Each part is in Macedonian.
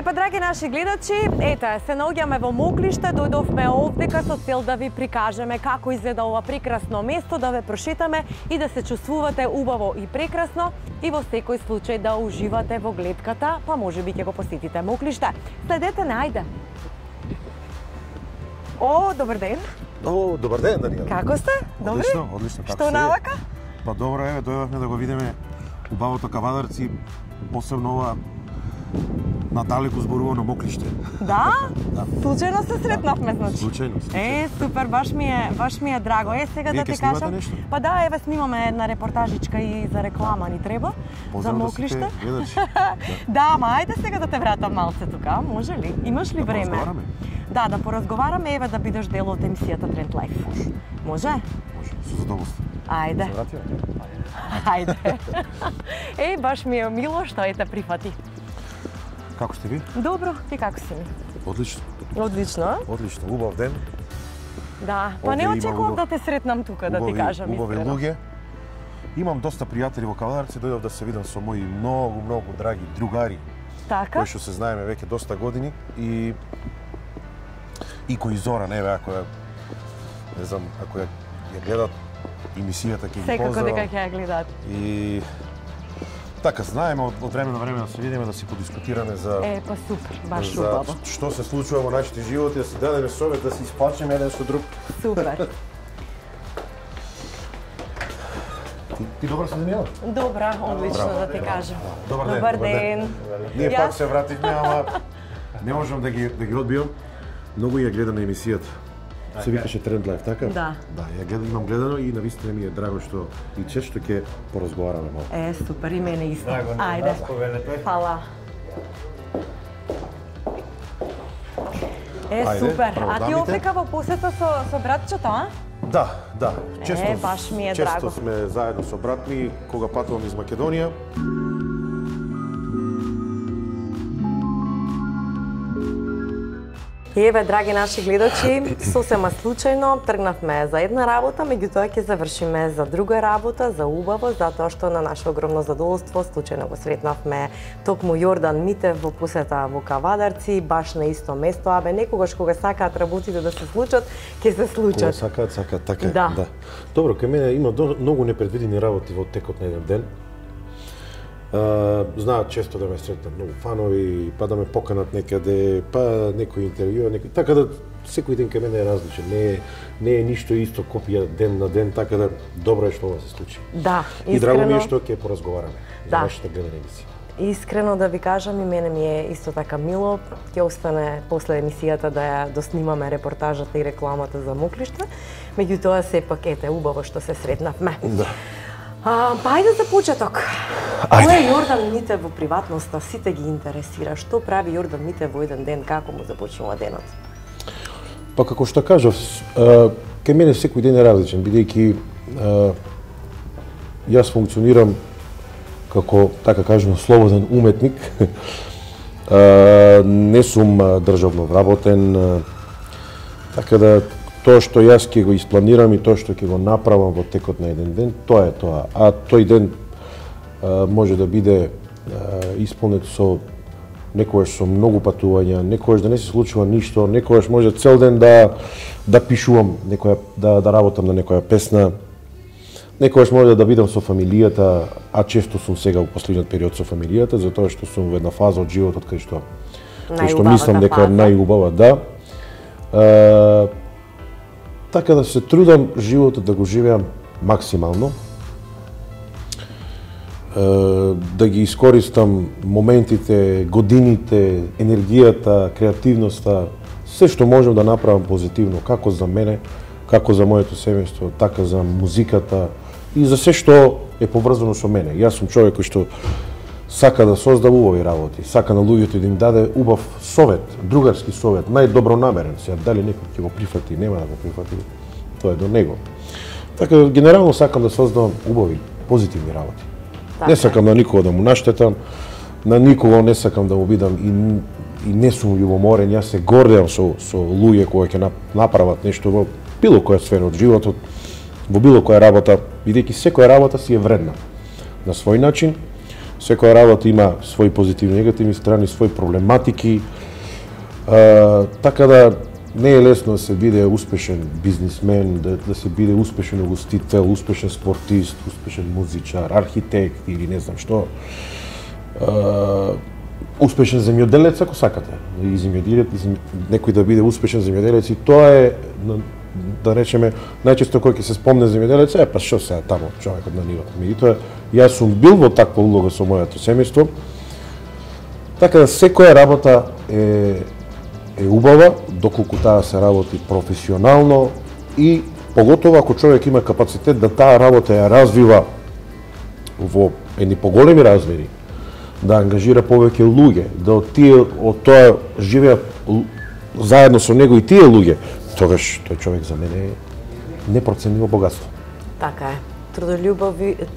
Па, драги наши гледачи, ете, се наоѓаме во Моклиште, дојдовме овдека со цел да ви прикажеме како изгледа ова прекрасно место, да ве прошетаме и да се чувствувате убаво и прекрасно и во секој случај да уживате во гледката, па можеби ќе го посетите Моклиште. Следете не, ајде. О, добар ден. О, добар ден, Данијела. Како сте? Добри? Одлично, одлично. Што навака? Па добро, еве, дојдовме да го видиме убавото Кавадарци, посебно ова надалеку зборувано Моклиште. Да? Да. Случајно се сретнавме, значи. Случајно. Супер, баш ми е драго. Сега Вие да ти ќе снимате кажам. нешто? Па да, еве снимаме една репортажичка и за реклама ни треба. Поздрав за да сите Моклиште. гледачи. Да, ама ајде сега да те вратам малце тука, може ли? Имаш ли Да време? поразговараме? Да, да поразговараме, еве да бидеш дел од емисијата Тренд Лайф. Може? Може, со задоволство. Ајде. Се вратиме? Ајде. Баш ми е мило што ете прифати. Како сте ви? Добро, ти како си ми? Одлично. Одлично, а? Одлично, убав ден. Да, па не Овде има очекував да те сретнам тука, да ти кажам убави искрено. луѓе. Имам доста пријатели во Кавадарци, дојдов да се видам со мои многу драги другари, Така? кои што се знаеме веќе доста години и кои Зоран, еве, ако ја, не знам, ако ја гледат емисијата, ќе ги Секако поздравам. дека ќе ја гледаат. И така, знаеме од време на време да се видиме, да си подискутираме за Па супер, баш за убаво. што се случува во нашите животи, да си дадеме совет, да се исплачеме еден со друг. Супер. Ти добра си, Данијела? Добра, одлично да ти кажам. Добар ден. Ние Јас- пак се вративме, ама не можам да ги одбијам. Многу ја гледам на емисијата. Се викаше Тренд Лайф, така? Да. Да, ја гледам, имам гледано и навистина ми е драго што и често ќе поразговараме малку. Супер, и мене исто. Драго ми е, Ајде. нас повелете. Фала. Ајде, Супер. право, А ти дамите. овдека во посета со братчето, а? Да. Често, баш ми е често драго. сме заедно со брат ми, кога патувам из Македонија. Еве, драги наши гледачи, сосема случајно тргнавме за една работа, меѓутоа ќе завршиме за друга работа, за убаво, затоа што на наше огромно задоволство случајно го сретнавме токму Јордан Митев во посета во Кавадарци, баш на исто место. Некогаш кога сакаат работите да се случат, ќе се Кога случат. сакаат, така е. Да. Добро, кај мене има многу непредвидени работи во текот на еден ден. Знаат често да ме сретнат многу фанови, па да ме поканат некаде, па некој интервју, така да секој ден кај мене е различен. Не е ништо исто копија ден на ден, така да добро е што ова се случи. Да, И драго ми е искрено. што ќе поразговараме за Да. нашата гледана емисија. Искрено да ви кажам, и мене ми е исто така мило. Ќе остане после емисијата да ја доснимаме репортажата и рекламата за Моклиште. Меѓутоа сепак ете убаво што се сретнавме. Да. Па ајде за почеток. Ајде. Кој е Јордан Митев во приватноста? Сите ги интересира. Што прави Јордан Митев во еден ден? Како му започнува денот? Па како што кажав, кај мене секој ден е различен, бидејќи јас функционирам како, така кажем, слободен уметник. Не сум државно вработен, така да тоа што јас ќе го испланирам и тоа што ќе го направам во текот на еден ден, тоа е тоа. А тој ден може да биде исполнет со некогаш со многу патувања, некогаш да не се случува ништо, некогаш може цел ден да пишувам да работам на некоја песна. Некогаш може да бидам со фамилијата, а често сум сега во последниот период со фамилијата, затоа што сум во една фаза од животот кај што мислам дека е најубава, да. Така да се трудам животот да го живеам максимално, да ги искористам моментите, годините, енергијата, креативноста, се што можам да направам позитивно, како за мене, како за моето семејство, така за музиката и за се што е поврзано со мене. Јас сум човек кој што сака да создава убави работи, сака на луѓето да им даде убав совет, другарски совет, најдобронамерен. Сега дали некој ќе го прифати, нема да го прифати, тоа е до него. Така генерално сакам да создавам убави, позитивни работи. Не сакам на никого да му наштетам, на никого не сакам да му бидам и не сум љубоморен. Јас се гордеам со луѓе кои ќе направат нешто во било која сфера од животот, во било која работа, бидејќи секоја работа си е вредна на свој начин, Секоја работа има своји позитивни, негативни страни, своји проблематики. Така да не е лесно да се биде успешен бизнисмен, да се биде успешен угостител, успешен спортист, успешен музичар, архитект или не знам што. Успешен земјоделец, ако сакате. И некој да биде успешен земјоделец, и тоа е, да речеме, најчесто кој ќе се спомне земјоделец, па што сега таму човекот на нивото. Меѓутоа, јас сум бил во таква улога со моето семејство, така да секоја работа е убава, доколку таа се работи професионално и поготово ако човек има капацитет да таа работа ја развива во едни поголеми размери, да ангажира повеќе луѓе, да од тоа живеат заедно со него и тие луѓе, тогаш тој човек за мене е непроценливо богатство. Така е.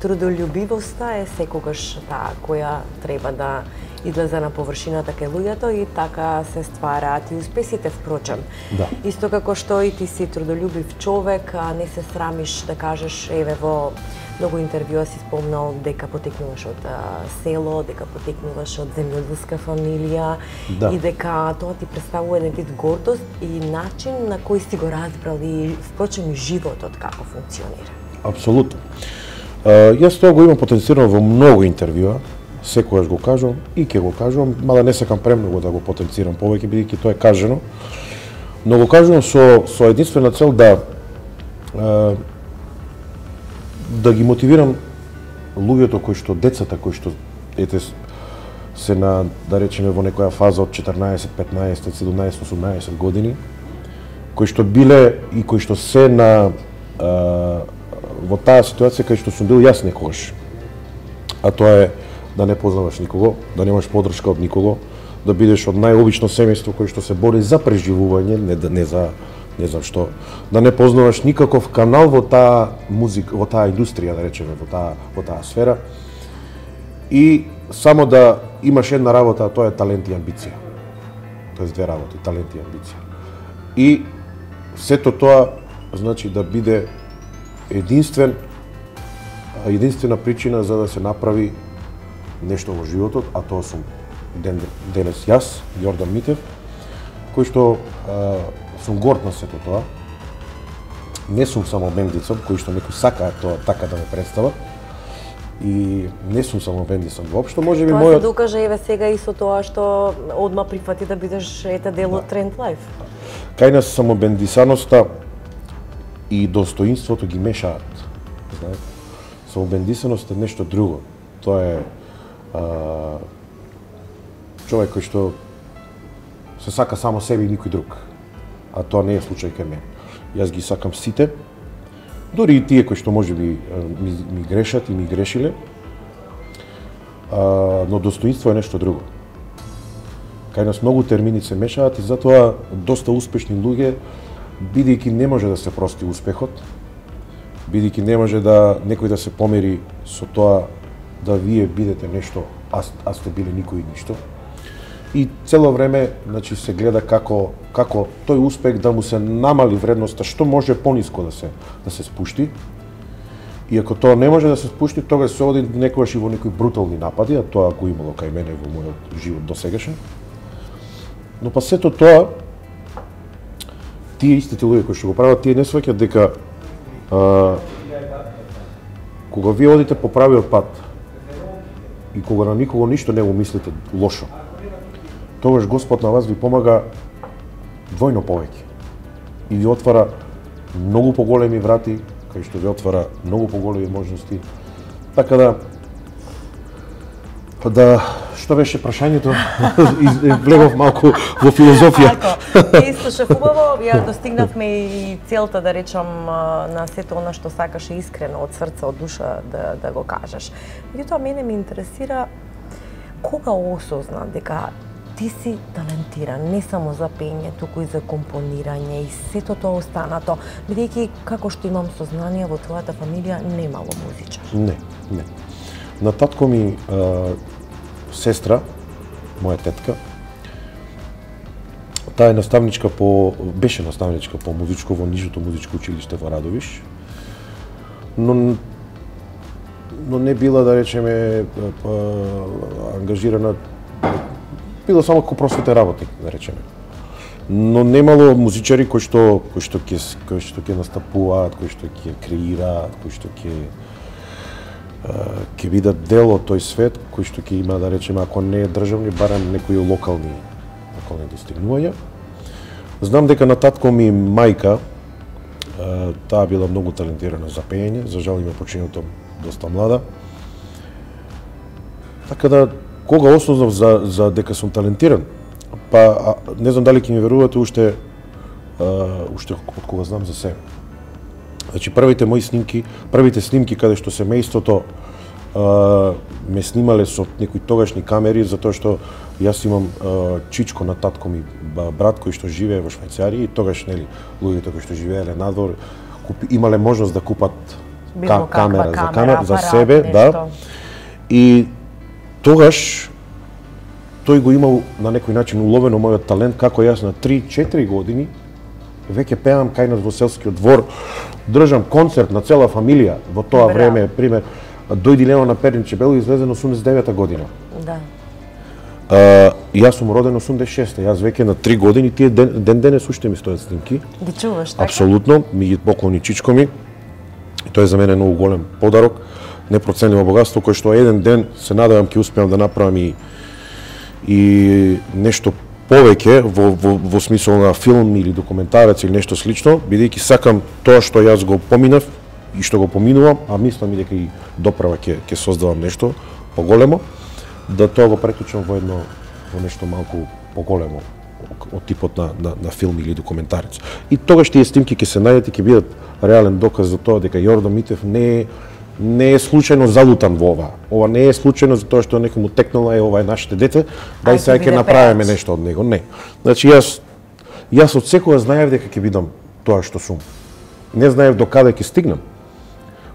Трудолюбивоста е секогаш таа која треба да излезе на површината кај луѓето и така се ствараат и успесите, впрочем. Да. Исто како што и ти си трудолюбив човек, а не се срамиш да кажеш, еве во многу интервјуа си спомнал дека потекнуваш од село, дека потекнуваш од земјоделска фамилија, да, и дека тоа ти представува еден вид гордост и начин на кој си го разбрал и впрочем животот како функционира. Апсолутно. Јас тоа го имам потенцирано во многу интервјуа, секогаш го кажувам и ќе го кажувам, мада не сакам премногу да го потенцирам повеќе, бидејќи тоа е кажано, но го кажувам со единствена цел да ги мотивирам луѓето кои што, децата кои што се на, да речеме, во некоја фаза од 14, 15, 17, 18 години, кои што биле и кои што се на во таа ситуација кај што сум бил јас некогаш. А тоа е да не познаваш никого, да немаш поддршка од никого, да бидеш од најобично семејство кој што се бори за преживување, не за не знам што, да не познаваш никаков канал во таа музика, во таа индустрија, да речеме, во таа сфера. И само да имаш една работа, а тоа е талент и амбиција. Тоест две работи, талент и амбиција. И сето тоа значи да биде единствена причина за да се направи нешто во животот, а тоа сум денес јас, Јордан Митев, кој што сум горд на сето тоа. Не сум само бендицом, кој што некој сака тоа така да ме представа. И не сум само бендицом воопшто, можеби тоа мојот... се докаже еве сега и со тоа што одма прифати да бидеш дел од Тренд Лайф. Кај нас самобендисаноста и достоинството ги мешаат. Знаете, самобендисаност е нешто друго. Тоа е човек кој што се сака само себе и никој друг. А тоа не е случај кај мене. Јас ги сакам сите, дури и тие кои што можеби ми грешат и ми грешиле, но достоинство е нешто друго. Кај нас многу термини се мешаат и затоа доста успешни луѓе, бидејќи не може да се прости успехот, бидејќи не може да некој да се помери со тоа да вие бидете нешто, а сте биле никој и ништо. И цело време, значи, се гледа како тој успех да му се намали вредноста, што може пониско да се спушти. И ако тоа не може да се спушти, тогаш се оди некогаш и во некои брутални напади, а тоа го имало кај мене во мојот живот досегашен. Но па сето тоа, тие истите луѓе кои што го прават, тие не сваќаат дека кога вие одите по правиот пат и кога на никого ништо не го мислите лошо, тогаш Господ на вас ви помага двојно повеќе и ви отвара многу поголеми врати, кај што ви отвара многу поголеми можности. Така да што беше прашањето? Влегов малку во филозофија. Така, слушав убаво, ја достигнавме и целта, да речам, на сето она што сакаш искрено од срце, од душа да го кажеш. Меѓутоа, мене ме интересира кога осозна дека ти си талентиран, не само за пење, туку и за компонирање и сето тоа останато, бидејќи како што имам сознание во твојата фамилија немало музичар. Не. На татко ми сестра, моја тетка, таа е беше наставничка по музичко во Нижното музичко училиште во Радовиш. Но но не била, да речеме, ангажирана, била само како просветен работник, да речеме. Но немало музичари кои што ќе настапуваат, кои што ќе креираат, кои што ќе видат дел од тој свет, кои што ќе има, да речеме, ако не е државни, барем некои локални достигнувања. Знам дека на татко ми мајка, таа била многу талентирана за пеење, за жал има починато доста млада. Така да, кога осознав за дека сум талентиран, па не знам дали ќе ми верувате уште од кога знам за себе. Значи првите снимки каде што семејството ме снимале со некои тогашни камери, затоа што јас имам чичко на татко ми, брат кој што живее во Швајцарија, и тогаш нели луѓето кои што живееле надвор имале можност да купат камера за себе, да. И тогаш тој го имал на некој начин уловено мојот талент, како јас на 3-4 години веќе пеам кај нас во селскиот двор, држам концерт на цела фамилија. Во тоа време, пример, дојди Лео на Перниче Бело излезен 89-та година. Да. Јас сум роден 86-та, јас веќе на 3 години, тие ден денес уште ми стојат снимки. Ги чуваш, така? Апсолутно, ми ги поклони чичко ми. И тоа е за мене многу голем подарок, непроценливо богатство, кој што еден ден се надевам ќе успеам да направам и нешто повеќе во смисол на филм или документарец или нешто слично, бидејќи сакам тоа што јас го поминав и што го поминувам, а мислам и дека и доправа ќе создавам нешто поголемо, да тоа го претучам во нешто малку поголемо од типот на филм или документарец. И тогаш тие снимки ќе се најдат и ќе бидат реален доказ за тоа дека Јордан Митев не е случајно залутан во ова. Ова не е случајно затоа што некому текнала ова е нашите дете, дај сега ќе направиме нешто од него. Не. Значи јас од секогаш знаев дека ќе бидам тоа што сум. Не знаев до каде ќе стигнам,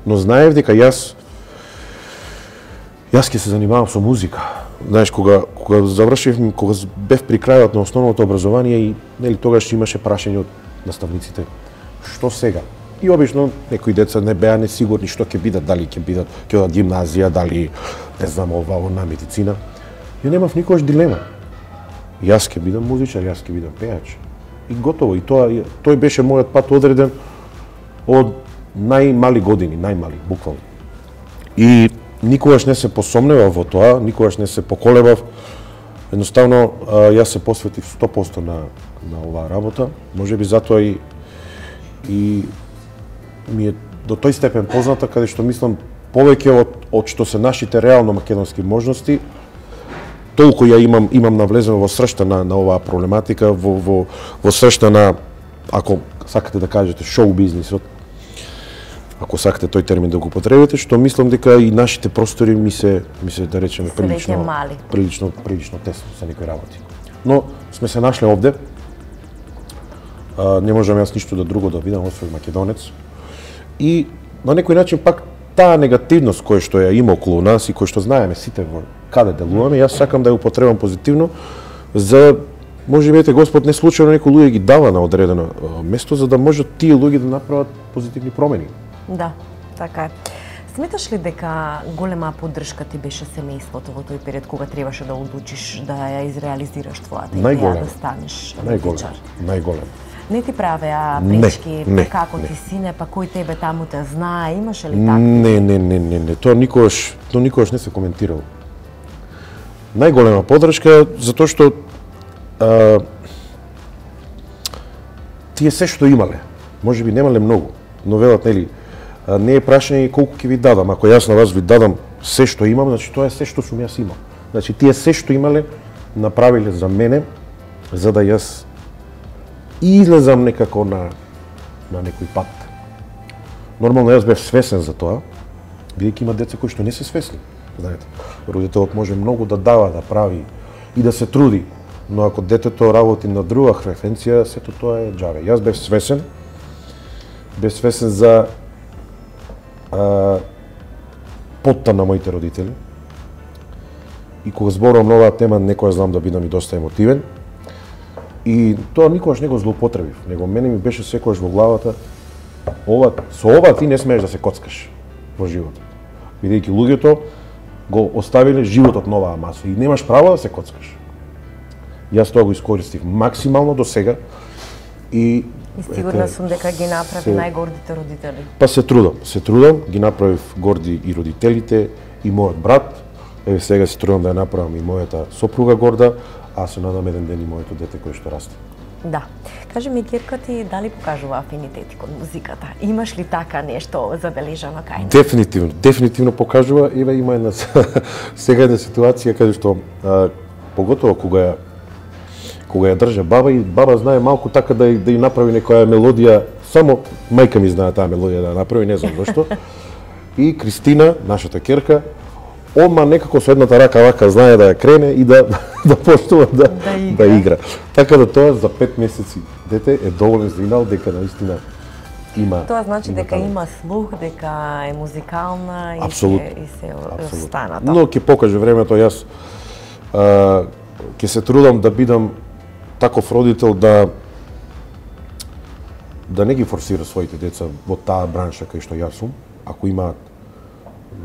но знаев дека јас ќе се занимавам со музика. Знаеш, кога завршив, кога бев при крајот на основното образование и нели тогаш имаше прашање од наставниците што сега. И обично некои деца не беа несигурни што ќе бидат, дали ќе одат гимназија, дали не знам ова на медицина. Ја немав никогаш дилема. Јас ќе бидам музичар, јас ќе бидам пејач. И готово, и тој беше мојот пат одреден од најмали години, буквално. И никогаш не се посомневав во тоа, никогаш не се поколебав. Едноставно јас се посветив 100% на оваа работа. Можеби затоа и ми е до тој степен позната, каде што мислам повеќе од што се нашите реално македонски можности, толку ја имам навлезено во сршта на оваа проблематика, во сршта на, ако сакате да кажете, шоу бизнисот, ако сакате тој термин да го употребите, што мислам дека и нашите простори ми се да речеме прилично тесно за некои работи. Но сме се нашле овде. Не можам јас ништо друго да видам освен македонец. И на некој начин пак таа негативност која што ја има околу нас и која што знаеме сите во каде делуваме, јас сакам да ја употребам позитивно за можеби Господ не случајно некои луѓе ги дава на одредено место за да можат тие луѓе да направат позитивни промени. Да, така е. Сметаш ли дека голема поддршка ти беше семејството во тој период кога требаше да одлучиш да ја изреализираш твојата идеја да станеш музичар? Најголем. Не ти правеа пречки, како ти сине, па кој тебе таму те знае, имаше ли така? Не, тоа никогаш не се коментирало. Најголема поддршка затоа што тие се што имале, можеби немале многу, но велат нели не е прашање колку ќе ви дадам, ако јас на вас ви дадам се што имам, значи тоа е се што сум јас имал. Значи тие се што имале направиле за мене за да јас излезам некако на некој пат. Нормално јас бев свесен за тоа, бидејќи има деца кои што не се свесни. Знаете, родителот може многу да дава, да прави и да се труди, но ако детето работи на друга фреквенција, сето тоа е џаве. Јас бев свесен за потта на моите родители. И кога зборувам на оваа тема, некоја знам да бидам и доста емотивен. И тоа никогаш не го злоупотребив, него мене ми беше секогаш во главата со ова ти не смееш да се коцкаш во животот. бидејќи луѓето го оставиле животот на оваа маса и немаш право да се коцкаш. Јас тоа го искористив максимално до сега и сигурна сум дека ги направи најгордите родители. Па се трудам, ги направив горди и родителите и мојот брат. Еве сега се трудам да ја направам и мојата сопруга горда, а се надам еден ден и моето дете кој што расте. Да. Кажи ми, Кирка, ти дали покажува афинитети кон музиката? Имаш ли така нешто забележано кај неа? Дефинитивно покажува. Еве има една сега една ситуација каде што поготово кога ја држа баба и баба знае малку така да ја направи некоја мелодија, само мајка ми знае таа мелодија да ја направи, не знам зашто. И Кристина, нашата керка, одма некако со едната рака вака знае да ја крене и да почнува да игра. Така да тоа за 5 месеци дете е доволен знал дека наистина има. Тоа значи дека има слух, дека е музикална и се останата. Но ќе покаже времето, јас ќе се трудам да бидам таков родител да не ги форсира своите деца во таа бранша кај што јас сум. Ако имаат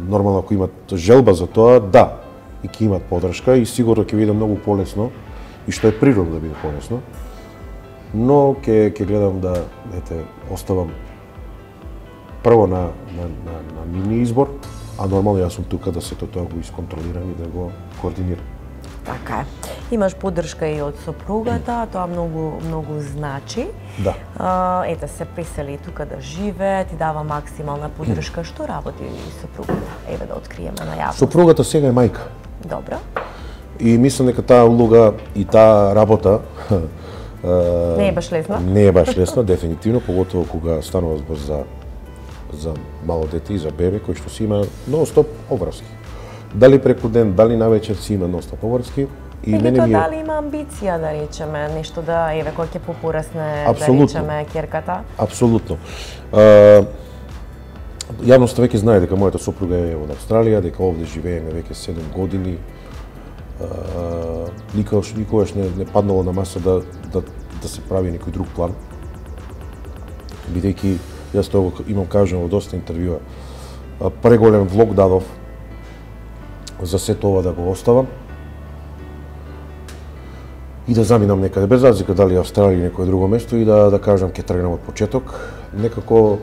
нормално, ако имат желба за тоа, да, и ќе имат поддршка и сигурно ќе биде многу полесно и што е природно да биде полесно. Но ќе гледам да оставам прво на нивни избор, а нормално јас сум тука да сето тоа го исконтролирам и да го координирам. Така е. Имаш поддршка и од сопругата, тоа многу значи. Да. Ете се присели тука да живее, ти дава максимална поддршка. Што работи сопругата? Еве да откриеме најавно. Сопругата сега е мајка. Добро. И мислам дека таа улога и таа работа не е баш лесна. Не е баш лесна, дефинитивно, поготово кога станува збор за мало дете и за бебе кој што си има нон-стоп обврски. Дали преку ден, дали навечер си има ностоп обврски и мене ми дали има амбиција да речеме нешто да еве кога ќе попорасне да речеме керката? Апсолутно. Јавноста веќе знае дека мојата сопруга е од Австралија, дека овде живееме веќе 7 години. Никогаш не паднало на маса да се прави некој друг план. Бидејќи јас тоа имам кажано во доста интервјуа. Преголем влог дадов за сето ова да го оставам и да заминам некаде, без разлика дали Австралија или некое друго место и да кажам ќе тргнам од почеток. Некако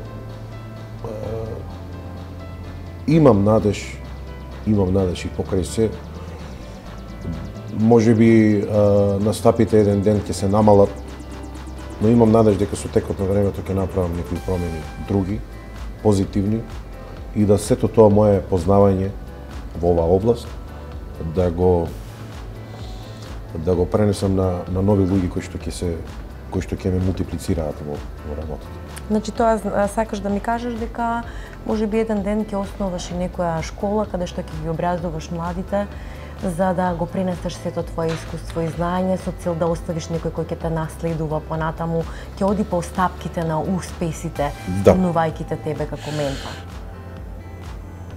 имам надеж и покрај се. Можеби настапите еден ден ќе се намалат, но имам надеж дека со текот на времето ќе направам некои промени други, позитивни и да сето тоа моје познавање во оваа област да го пренесам на нови луѓе кои што ќе ме мултиплицираат во работата. Значи тоа сакаш да ми кажеш дека можеби еден ден ќе основаш и некоја школа каде што ќе ги образуваш младите за да го пренесеш сето твое искуство и знаење со цел да оставиш некој кој ќе те наследува понатаму, ќе оди по стапките на успесите, спомнувајќи те тебе како ментор.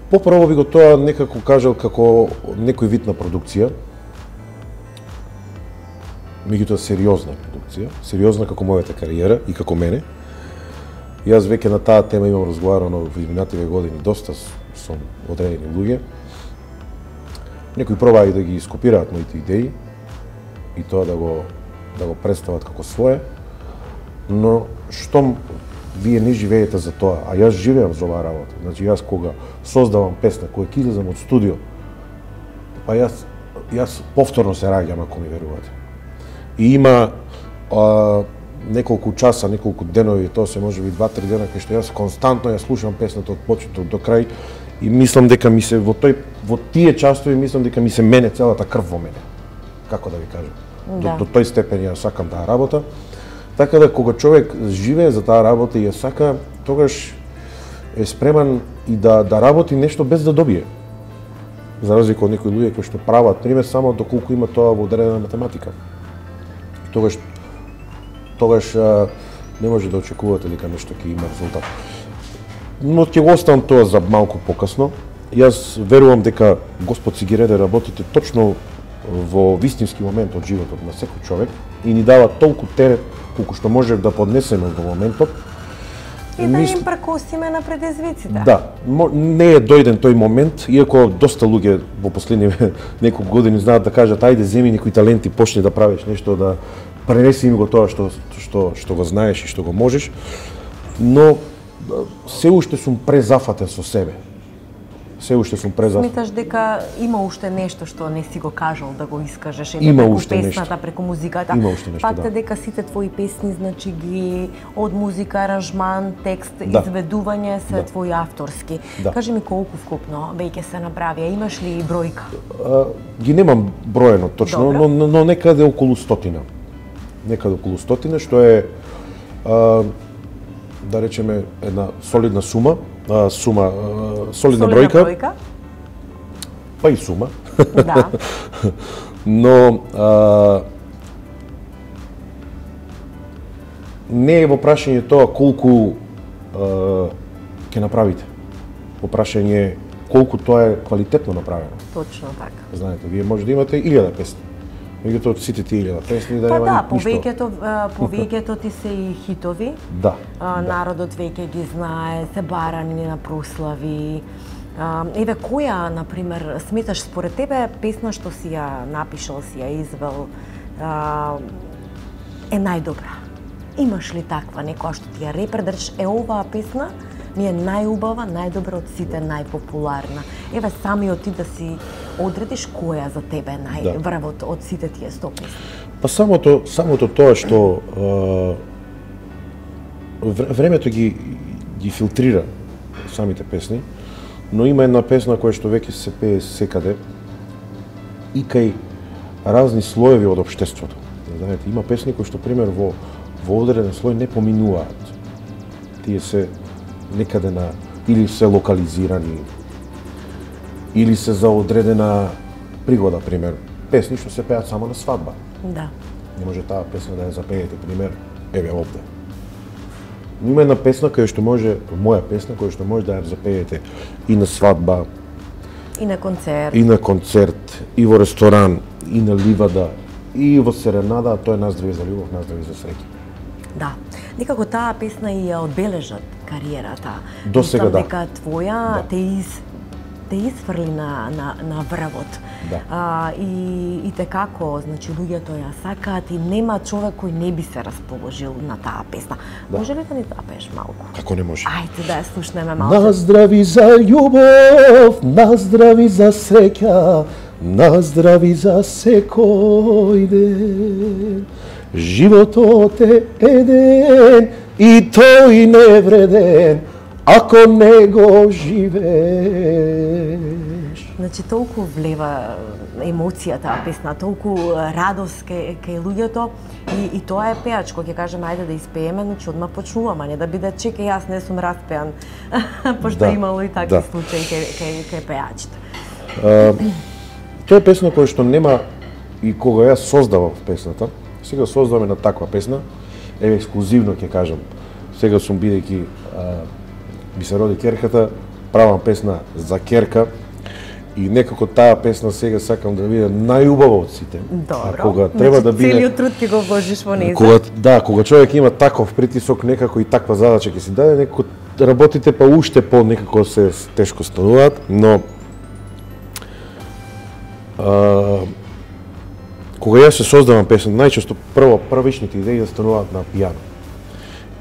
Поправо би го тоа некако кажал како некој вид на продукција. Меѓутоа сериозна продукција, сериозна како мојата кариера и како мене. Јас веќе на таа тема имам разговарано во изминативе години доста со одредени луѓе. Некои пробаа и да ги скопираат моите идеи и тоа да го представат како свое, но штом вие не живеете за тоа, а јас живеам за оваа работа. Значи јас кога создавам песна, кога ќе излезам од студио, па јас повторно се раѓам ако ми верувате. И има неколку часа, неколку денови, тоа се можеби 2-3 дена кај што јас константно ја слушам песната од почеток до крај и мислам дека ми се во тие часови мислам дека ми се мене целата крв во мене. Како да ви кажам? До тој степен ја сакам таа работа. Така да кога човек живее за таа работа и ја сака, тогаш е спреман и да работи нешто без да добие. За разлика од некои луѓе кои што прават, пример само доколку има тоа во одредена математика. Тогаш не може да очекувате дека нешто ќе има резултат. Но ќе го оставам тоа за малку покасно. Јас верувам дека Господ си ги реде работите точно во вистински момент од животот на секој човек и ни дава толку терет колку што можев да поднесеме во моментот. И да им прекосиме на предизвиците. Да, не е дојден тој момент, иако доста луѓе во последни неколку години знаат да кажат ајде земи некои таленти, почни да правиш нешто, да пренеси им го тоа што го знаеш и што го можеш, но се уште сум презафатен со себе. Се уште сум презафатен. Сметаш дека има уште нешто што не си го кажал да го искажеш, има преку уште песната, нешто. преку музиката. Има уште нешто, Факт е да. дека сите твои песни, значи ги од музика, аранжман, текст, Да. изведување се Да. твои авторски. Да. Кажи ми колку вкупно веќе се направи, а имаш ли бројка? Ги немам броено точно, Добро. но некаде околу 100. Некаде околу 100, што е да речеме една солидна солидна бројка, па и сума. Да. Но не е во прашање тоа колку ќе направите. Во прашање колку тоа е квалитетно направено. Точно така. Знаете, вие може да имате 1000 песни. Меѓутоа од сите тие 1000 песни да Па нема да, ништо. повеќето ти се и хитови. Да. Народот веќе ги знае, се барани на прослави. Еве, која, например, сметаш според тебе песна што си ја напишал, си ја извел, е најдобра? Имаш ли таква некоја што ти ја репер, да речеш, оваа песна ми е најубава, најдобра од сите, најпопуларна. Еве, самиот ти да си одредиш која за тебе е најврвот од сите тие 100 песни. Па самото тоа што времето ги филтрира самите песни, но има една песна која што веќе се пее секаде и кај разни слоеви од општеството. Знаете, има песни кои што пример во одреден слој не поминуваат. Тие се некаде или се локализирани, или се за одредена пригода, пример. Песни што се пеат само на свадба. Да. Не може таа песна да ја запеете, пример, еве овде. Има една песна која што може, моја песна која што може да ја запеете и на свадба, и на концерт, и во ресторан, и на ливада, и во серенада, а тоа е Наздрави за љубов, наздрави за среќа. Да. Некако таа песна и ја одбележат кариерата. До сега да. Дека твоја те изфрли на врвот. Да. И те како, значи луѓето ја сакаат и нема човек кој не би се расположил на таа песна. Да. Може ли да ни запееш малку? Како не може? Ајде да ја слушнеме малку. Наздрави за љубов, наздрави за среќа, наздрави за секој ден. Животот е еден и тој не вреден, ако не го живееш. Значи, толку влева емоција таа песна, толку радост кај луѓето и тоа е пеачко, ќе кажеме ајде да испееме, значи одма почнуваме, а не да биде чекај јас не сум распеан, пошто имало и такви случаи кај пеачите. Тоа е песна која што нема и кога јас создавав песната, сега создаваме на таква песна, еве ексклузивно ќе кажам, сега сум бидејќи ми се роди керката, правам песна за керка, и некако таа песна сега сакам да биде најубава од сите. Добро. А кога треба да биде целиот труд ќе го вложиш во неја. Кога човек има таков притисок, некако и таква задача ќе си даде, некако работите па уште по некако се тешко стануваат, но кога јас се создавам песна, најчесто првичните идеи да стануваат на пијано.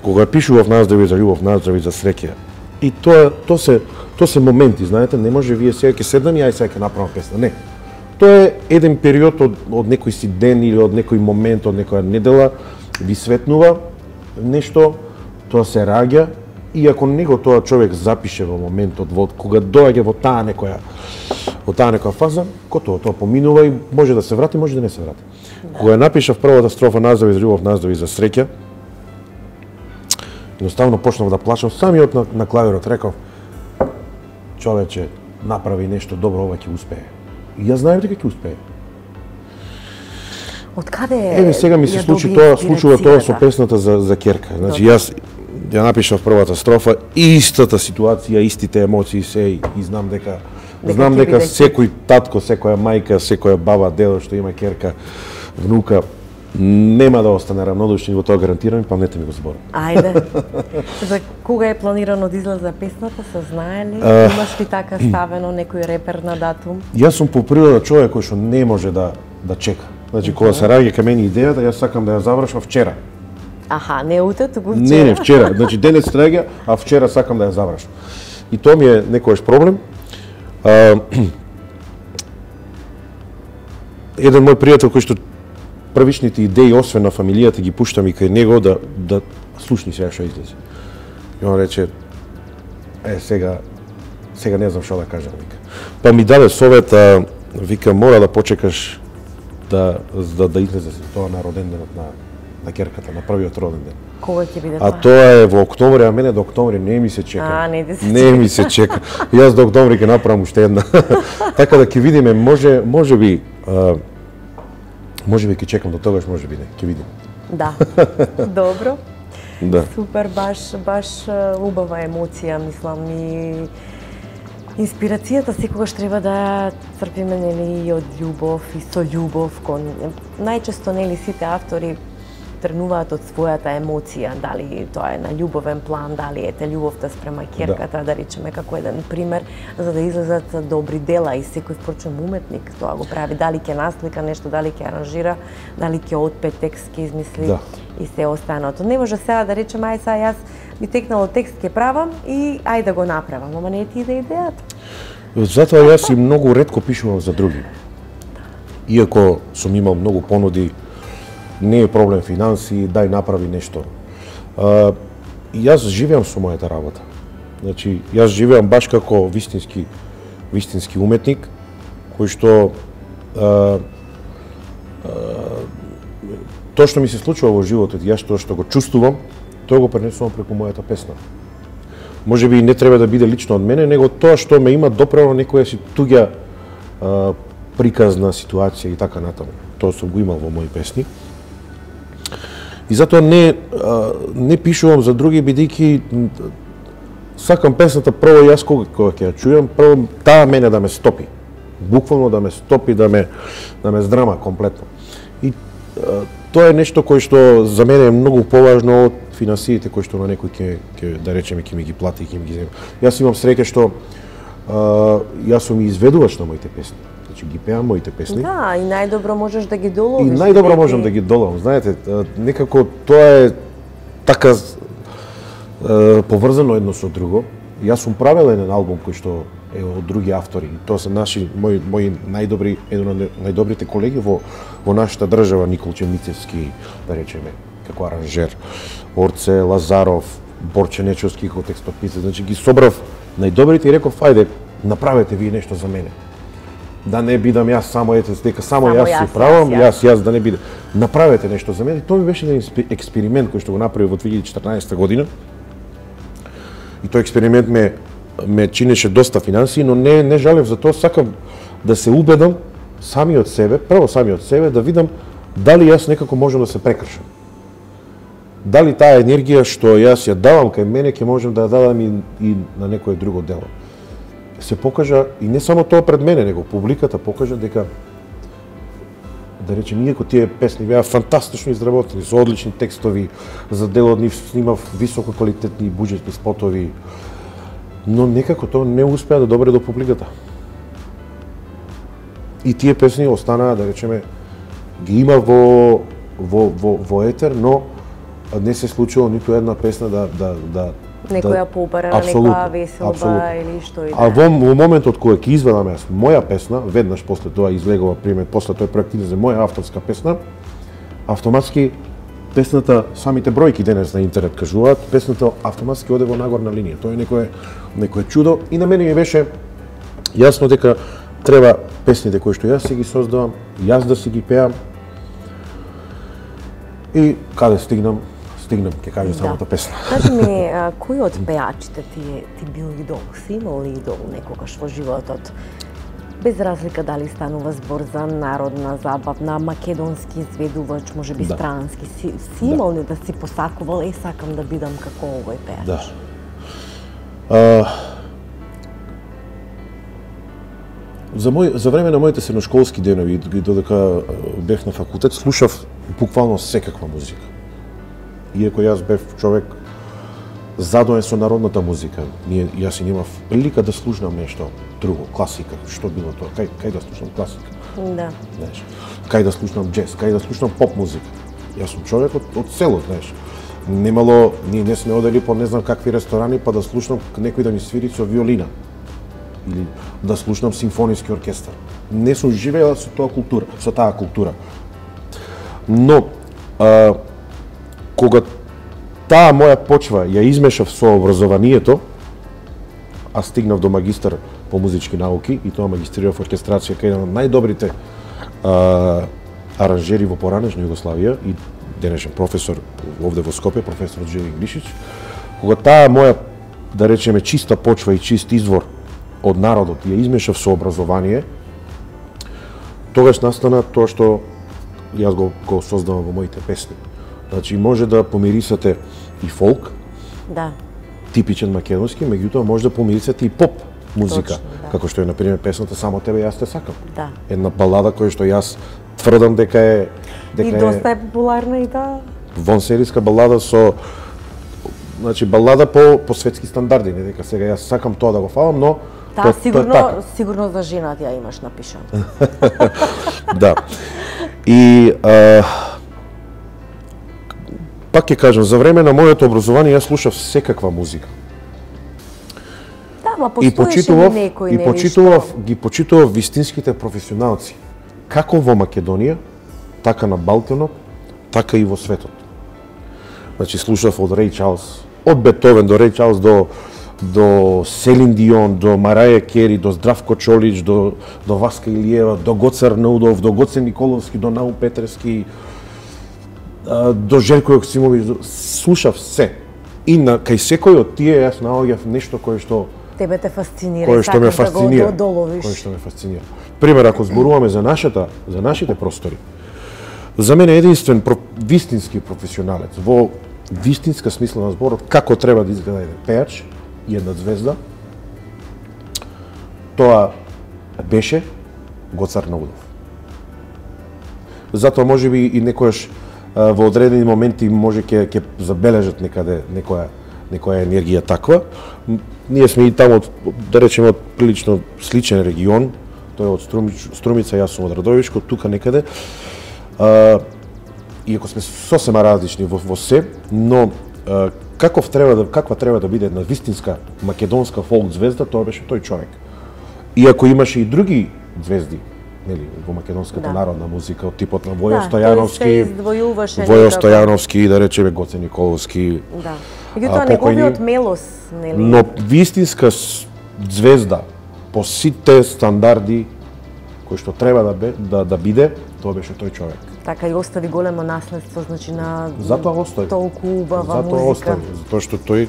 Кога ја пишував Наздрави за љубов, наздрави за среќа, и тоа се моменти, знаете, не може вие сега ќе седнам и ај сега ќе направам песна, не. Тоа е еден период од некој си ден или од некој момент, од некоја недела, ви светнува нешто, тоа се раѓа, и ако него тоа човек запише во моментот, кога доаѓа во таа некоја фаза, тоа поминува и може да се врати, може да не се врати. Кога ја напишав првата строфа Наздрави за љубов, наздрави за среќа, едноставно почнав да плачам, самиот на клавирот реков, човече, направи нешто добро, ова ќе успее. И јас знаев дека ќе успее. Од каде еве сега ми се случува тоа со песната за керка. Значи јас ја напишав првата строфа, истата ситуација, истите емоции се и знам дека секој татко, секоја мајка, секоја баба, дедо што има керка, внука, Нема да остане равнодушни, во тоа гарантирам, памнете ми го зборам. Ајде. За кога е планирано да излезе песната, се знае ли? Имаш ли така ставено некој репер на датум? Јас сум по природа човек кој што не може да чека. Значи, кога се раѓа кај мене идејата, јас сакам да ја завршам вчера. Аха, не утре, туку вчера. Не, вчера. Значи, денес раѓа, а вчера сакам да ја завршам. И тоа ми е некојаш проблем. Еден мој пријател кој што првичните идеи, освен на фамилијата, ги пуштам и кај него да слушни сега што излезе. И он рече, сега не знам што да кажам, вика. Па ми даде совет, вика, мора да почекаш да излезе тоа на роден денот на ќерката, на првиот роден ден. Кога ќе биде тоа? А тоа е во октомври, а мене до октомври не ми се чека. Не ми се чека. Јас до октомври ќе направам уште една. Така да ќе видиме, може би ќе чекам до тогаш, може би не, ќе видиме. Да. Добро. Да. Супер, баш убава емоција, мислам, и инспирацијата секогаш треба да црпиме, нели, и од љубов и со љубов кон најчесто, нели, сите автори тренуваат од својата емоција, дали тоа е на љубовен план, дали ете љубовта спрема ќерката, да речеме како еден пример, за да излезат добри дела, и секој впрочем уметник тоа го прави, дали ќе наслика нешто, дали ќе аранжира, дали ќе отпе текст, ќе измисли и се останато. Не може сега да речем, ај сега јас ми текнало текст ќе правам и ај да го направам, ама не ти иде идејата. Затоа јас и многу ретко пишувам за други. Иако сум имал многу понуди, не е проблем финанси, дај направи нешто. Јас живеам со мојата работа. Значи, јас живеам баш како вистински уметник, кој што тоа што ми се случува во животот, јас тоа што го чувствувам, тоа го пренесувам преку мојата песна. Може би не треба да биде лично од мене, него тоа што ме има доправо некоја си туѓа приказна ситуација и така натаму. Тоа сум го имал во мои песни. И затоа не пишувам за други, бидејќи сакам песната прво јас кога ќе ја чујам, прво таа мене да ме стопи. Буквално да ме стопи, да ме здрама комплетно. И тоа е нешто кое што за мене е многу поважно од финансиите кои што на некој ќе да речеме ќе ми ги плати и ќе ми ги земе. Јас имам среќа што јас сум изведувач на моите песни. Значи ги пеам моите песни. Да, и најдобро можеш да ги доловиш. И најдобро можам да ги доловам. Знаете, некако тоа е така поврзано едно со друго. Јас сум правел еден албум кој што е од други автори. Тоа се мои најдобри, еден од најдобрите колеги во нашата држава, Николче Мицевски, да речеме, како аранжер, Орце Лазаров, Борче Нечовски како текстописец. Значи ги собрав најдобрите и реков, ајде, направете вие нешто за мене. Да не бидам јас само дека само јас си правам, јас да не бидам. Направете нешто за мене. Тоа ми беше еден експеримент кој што го направи во 2014 година. И тој експеримент ме чинеше доста финансии, но не жалев за тоа, сакам да се убедам сами од себе, да видам дали јас некако можам да се прекршам. Дали таа енергија што јас ја давам кај мене ќе можам да ја дадам и на некое друго дело. Се покажа, и не само тоа пред мене, него публиката покажа дека, да речем, иако тие песни беа фантастично изработени, со одлични текстови, за дел од нив снимав високо квалитетни буџетни спотови, но некако тоа не успеа да добре до публиката. И тие песни останаа, да речеме, ги има во етер, но не се случило ниту една песна да некоја поубарена, некоја веселба или што и да. А во моментот кога ќе изведам јас моја песна, веднаш после тоа излегува пример, после тој проект за моја авторска песна, автоматски песната, самите бројки денес на интернет кажуваат, песната автоматски оде во нагорна линија. Тоа е некое чудо и на мене ми беше јасно дека треба песните кои што јас си ги создавам, јас да си ги пеам. И каде стигнам, ќе кажа самата песна. Кажи ми, кој од пеачите ти бил идол? Си имал ли идол некогаш во животот? Без разлика дали станува збор за народна, забавна, македонски изведувач, можеби странски. Си имал ли да си посакувал, сакам да бидам како овој пеач? Да. За време на моите средношколски денови, додека бев на факултет, слушав буквално секаква музика. Иако јас бев човек задоен со народната музика, јас и немав прилика да слушнам нешто друго, класика, што било тоа, кај да слушнам класика. Да. Знаеш, кај да слушнам джез, кај да слушнам поп музика. Јас сум човек од село, знаеш. Немало, ние не сме одели по не знам какви ресторани па да слушнам некој да ми свири со виолина или да слушнам симфониски оркестар. Не сум живеела со таа култура. Но кога таа моја почва ја измешав со образованието, аз стигнав до магистар по музички науки и тоа магистрирав оркестрација кај еден од најдобрите аранжери во поранешна Југославија и денешен професор овде во Скопје, професор Джеви Глишич. Кога таа моја, да речеме, чиста почва и чист извор од народот ја измешав со образование, тогаш настана тоа што јас го создавам во моите песни. Значи, може да помирисате и фолк, Да. типичен македонски, меѓутоа може да помирисате и поп музика, Точно, да. како што е, например, песната Само тебе јас те сакам. Да. Една балада која што јас тврдам дека е И доста е популарна и таа. вонсериска балада со, значи, балада по светски стандарди, не дека сега јас сакам тоа да го фалам, но Таа така. сигурно за жената ја имаш напишано. Да. И пак ќе кажам, за време на моето образование јас слушав секаква музика. Да, ма И постоеше ли некој, ги почитував вистинските професионалци, како во Македонија, така на Балканот, така и во светот. Значи слушав од Реј Чарлс, од Бетовен до Реј Чарлс до Селин Дион, до Мараја Кери, до Здравко Чолич, до Васка Илиева, до Гоце Арнаудов, до Гоце Николовски, до Нау Петревски, до Желко Јоксимовиќ, слушав се. И кај секој од тие јас наоѓав нешто кое што Тебе те фасцинира, кое што ме фасцинира, да го доловиш. кое што ме фасцинира. Пример, ако зборуваме за нашите простори, за мене единствен вистински професионалец во вистинска смисла на зборот, како треба да изгледа еден пејач и една звезда, тоа беше Гоце Арнаудов. Затоа можеби и некојаш во одредени моменти може ќе забележат некаде некоја енергија таква. Ние сме и таму, да речеме, од прилично сличен регион, тој е од Струмица, јас сум од Радовишко, тука некаде. Иако сме сосема различни во се, но каква треба да биде една вистинска македонска фолк звезда, тоа беше тој човек. Иако имаше и други звезди, нели, во македонската народна музика, од типот на Војо Стојановски, да речеме Гоце Николовски. Да. Меѓутоа неговиот мелос, нели? Но вистинска звезда по сите стандарди кои што треба да биде, тоа беше тој човек. Така и остави големо наследство, значи на толку убава музика. Затоа остави, затоа што тој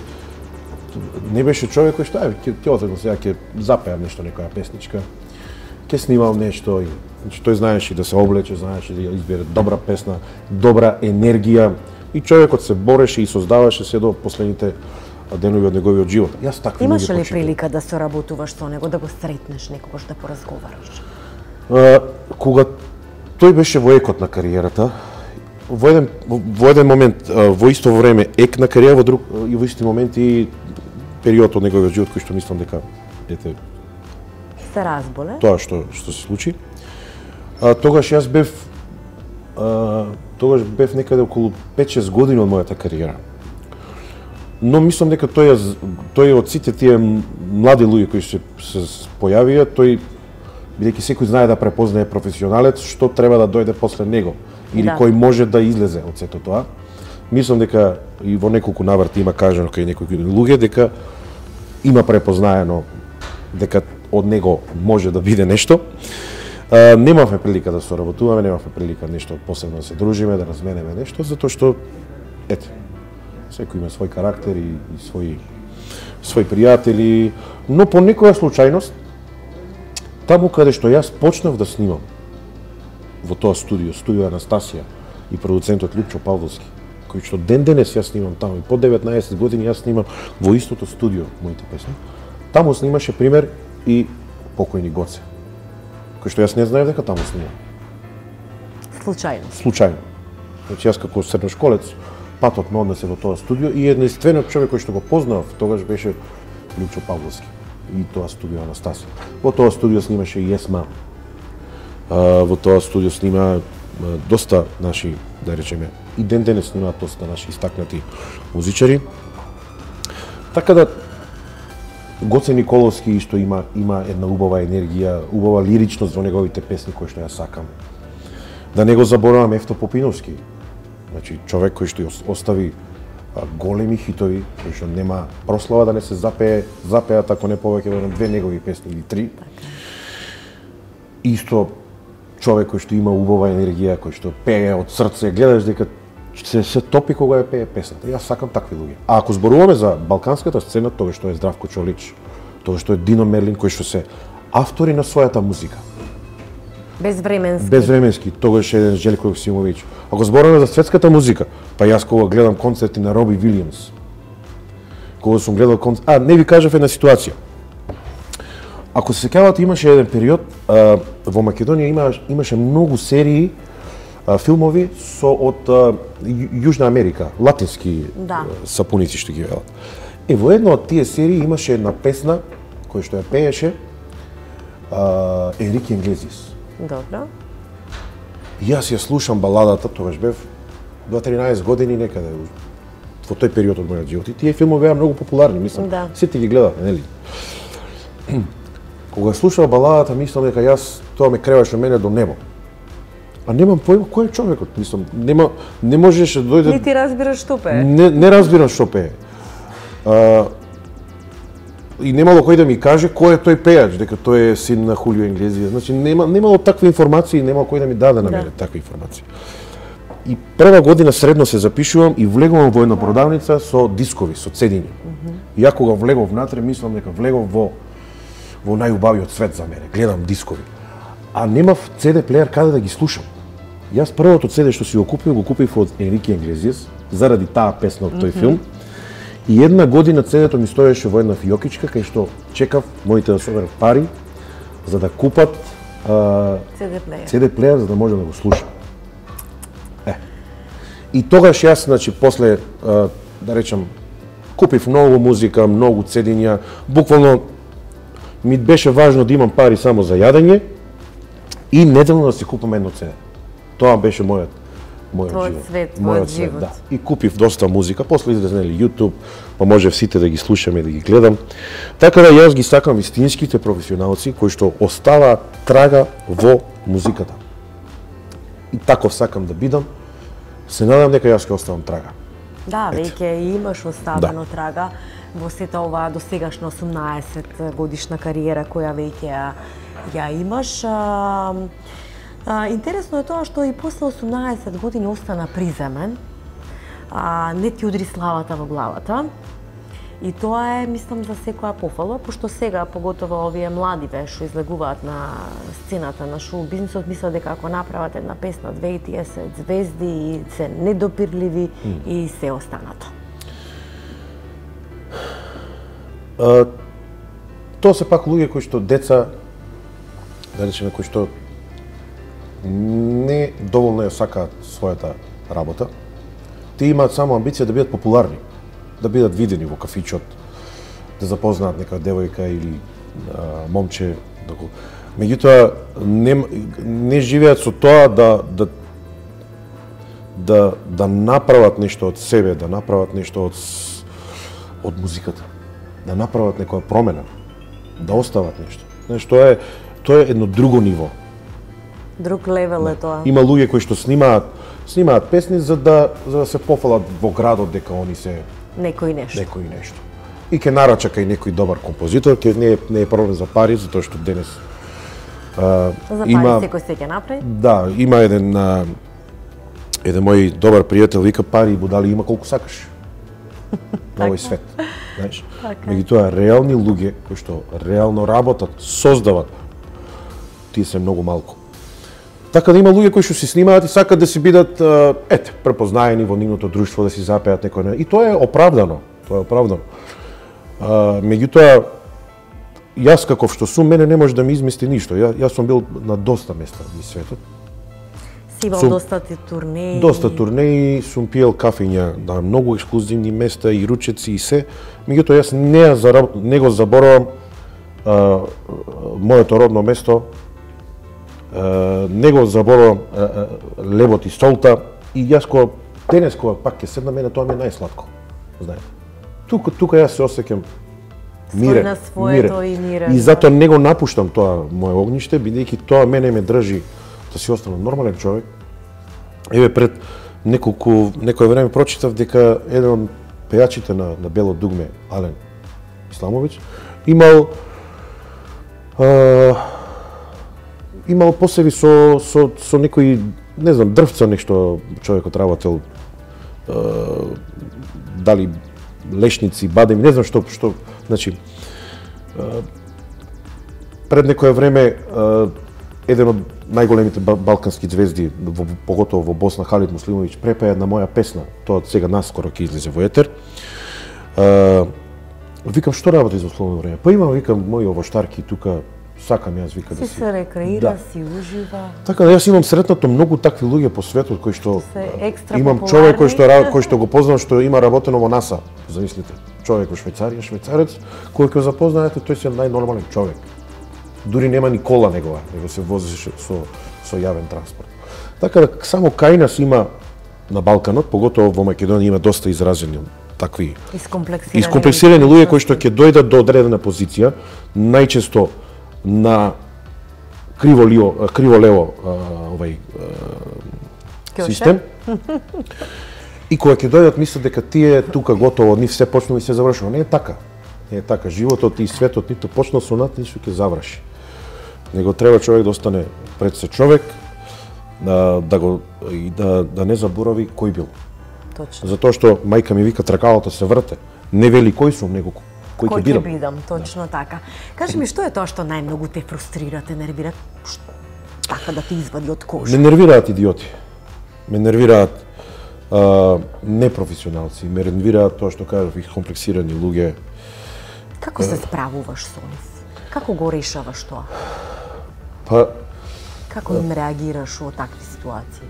не беше човек кој што ќе отидам сега ќе запеам нешто, некоја песничка, ќе снимам нешто, значи тој знаеше да се облече, знаеше да избере добра песна, добра енергија и човекот се бореше и создаваше се до последните денови од неговиот живот. Јас такви луѓе Имаше ли прилика да соработуваш со него, да го сретнеш некогаш, да поразговараш? Кога тој беше во екот на кариерата, во еден момент, во исто време ек на кариера, во исти момент и период од неговиот живот кој што мислам дека се разболе. Тоа што се случи. Тогаш јас бев некаде околу 5-6 години од мојата кариера. Но мислам дека тој од сите тие млади луѓе кои се појавија, тој бидејќи секој знае да препознае професионалец, што треба да дојде после него или кој може да излезе од сето тоа. Мислам дека и во неколку наврати има кажано кај некои луѓе дека има препознаено дека од него може да биде нешто. Немавме прилика да соработуваме, немавме прилика нешто посебно да се дружиме, да разменеме нешто, затоа што секој има свој карактер и своји пријатели, но по некоја случајност таму каде што јас почнав да снимам во тоа студио Анастасија и продуцентот Лупчо Павловски, кој што ден денес јас снимам таму и по 19 години јас снимам во истото студио моите песни. Таму снимаше пример и покојни Гоце. кој што јас не знаев дека таму снима. Случајно. Значи јас како средношколец патот ме однесе во тоа студио и единствениот човек кој што го познав тогаш беше Лјупчо Павловски и тоа студио Анастасија. Во тоа студио снимаше и Есма. Во тоа студио снима доста наши, да речеме, и ден денес снимаат доста наши истакнати музичари. Така да Гоце Николовски исто има една убава енергија, убава лиричност во неговите песни кои што ја сакам. Да не го заборавам Ефто Попиновски. Значи човек кој што остави големи хитови, кој што нема прослава да не се запеат ако не повеќе во 2 негови песни или 3. Исто човек кој што има убава енергија, кој што пее од срце, гледаш дека се топи кога ја пее песната. Јас сакам такви луѓе. А ако зборуваме за балканската сцена, тоа што е Здравко Чолич, тоа што е Дино Мерлин, кои што се автори на својата музика. Безвременски, тогаш е Желко Јоксимовиќ. Ако зборуваме за светската музика, па јас кога гледам концерти на Роби Вилијамс, кога сум гледал концерти, не ви кажав една ситуација. Ако се сеќавате, имаше еден период во Македонија имаше многу серии филмови од Јужна Америка, латински сапуници што ги велат. Во една од тие серии имаше една песна која што ја пееше Енрике Иглесиас. Добро. Јас ја слушам баладата, тогаш бев 13 години некаде во тој период од мојот живот. И тие филмови беа многу популарни, мислам. Сите ги гледавме, нели? Кога слушав баладата, мислам дека јас тоа ме креваше мене до небо. А немам појма кој е човекот, мислам, не можеше да дојде. Не ти разбираш што пее. Не разбирам што пее. И немало кој да ми каже кој е тој пејач, дека тој е син на Хулио Иглесиас. Значи немало такви информации, немало кој да ми даде на мене такви информации. И прва година средно се запишувам и влегувам во една продавница со дискови, со цедиња. И ја кога влегов внатре, мислам дека влегов во најубавиот свет за мене. Гледам дискови. А немав CD плеер каде да ги слушам. Јас првото CD што си го купив од Енрике Иглесиас заради таа песна од тој филм. И една година CD-то ми стоеше во една фиокичка кај што чекав моите да соберат пари за да купат CD плеер за да може да го слушам. И тогаш јас, значи, после, да речам, купив многу музика, многу цедиња, буквално ми беше важно да имам пари само за јадење и неделно да си купам едно CD. Тоа беше мојот живот. Да. И купив доста музика, после излезе YouTube, па можев сите да ги слушам и да ги гледам. Така да јас ги сакам вистинските професионалци кои што остава трага во музиката. И таков сакам да бидам. Се надам дека јас ќе оставам трага. Да, веќе имаш оставено трага во сета оваа досегашна 18 годишна кариера која веќе ја имаш. Интересно е тоа што и после 18 години остана приземен, не ти удри славата во главата. И тоа е, мислам, за секоја пофала, пошто сега, поготово овие младиве што излегуваат на сцената на шоу бизнисот, мислат дека ако направат една песна, две и тие се звезди и се недопирливи и се останато. Тоа се пак луѓе кои што деца, да речеме, кои што не доволно ја сакаат својата работа. Тие имаат само амбиција да бидат популарни, да бидат видени во кафичот, да запознаат нека девојка или момче. Меѓутоа, не живеат со тоа да направат нешто од себе, да направат нешто од музиката, да направат некоја промена, да остават нешто. Знаеш, тоа е едно друго ниво. Друг левел е тоа. Има луѓе кои што снимаат песни за да се пофалат во градот дека они се некој нешто. И ќе нарача кај некој добар композитор, ќе не е проблем за пари, затоа што денес за пари секој се ќе направи? Да, има еден мој добар пријател вика пари и будали има колку сакаш. На овој свет, знаеш. Меѓутоа реални луѓе кои што реално работат, создават, тие се многу малку. Така да има луѓе кои што се снимаат и сакат да си бидат препознаени во нивното друштво, да си запеат некој. И тоа е оправдано. Меѓутоа јас каков што сум, мене не може да ми измисли ништо. Јас сум бил на доста места во светот. Си имал доста турнеи. Доста турнеи, сум пиел кафења на многу ексклузивни места и ручеци и се. Меѓутоа јас не го заборавам моето родно место, не го заборавам лебот и солта, и јас денес кога пак ќе седна, мене тоа ми е најсладко. Знаете. Тука јас се осеќам мирен. И затоа не го напуштам тоа мое огниште, бидејќи тоа мене ме држи да си останам нормален човек. Еве пред некое време прочитав дека еден од пејачите на Бело дугме, Ален Исламовиќ, имал по себе со некои, не знам, дрвца нешто човекот работел, дали лешници, бадеми, не знам што, значи, пред некое време еден од најголемите балкански звезди, поготово во Босна, Халид Муслимовиќ, препеа една моја песна, тоа сега наскоро ќе излезе во етер. Викам, што работи за слободно време? Па имам, викам, мои овоштарки тука, сакам јас, вика, да си се рекреира, си ужива. Така да, јас имам сретнато многу такви луѓе по светот кои што имам популарни. човек кој што го познавам, што има работено во НАСА, замислите, човек во Швајцарија, швајцарец, кој ќе запознаете, тој се најнормален човек. Дури нема ни кола негова, него се возеше со јавен транспорт. Така да, само кај нас има на Балканот, поготово во Македонија, има доста изразени такви искомплексирани луѓе кои што ќе дојдат до одредена позиција, најчесто на криво-лево систем. И кога ќе дојдат, мислат дека тие тука готово, нив се почнува и се завршува. Не е така. Не е така. Животот и светот ниту почнал со над, ниту ќе заврши. Него треба човек да остане пред се човек, да не заборави кој бил. Точно. Затоа што мајка ми вика тркалото се врте. Не вели кој сум, него кој ќе бидам. Точно така. Кажи ми, што е тоа што најмногу те фрустрира, те нервира, така да те извади од кожа? Ме нервираат идиоти. Ме нервираат непрофесионалци, ме нервираат тоа што кажав, комплексирани луѓе. Како се справуваш со нив? Како го решаваш тоа? Па како им реагираш во такви ситуации?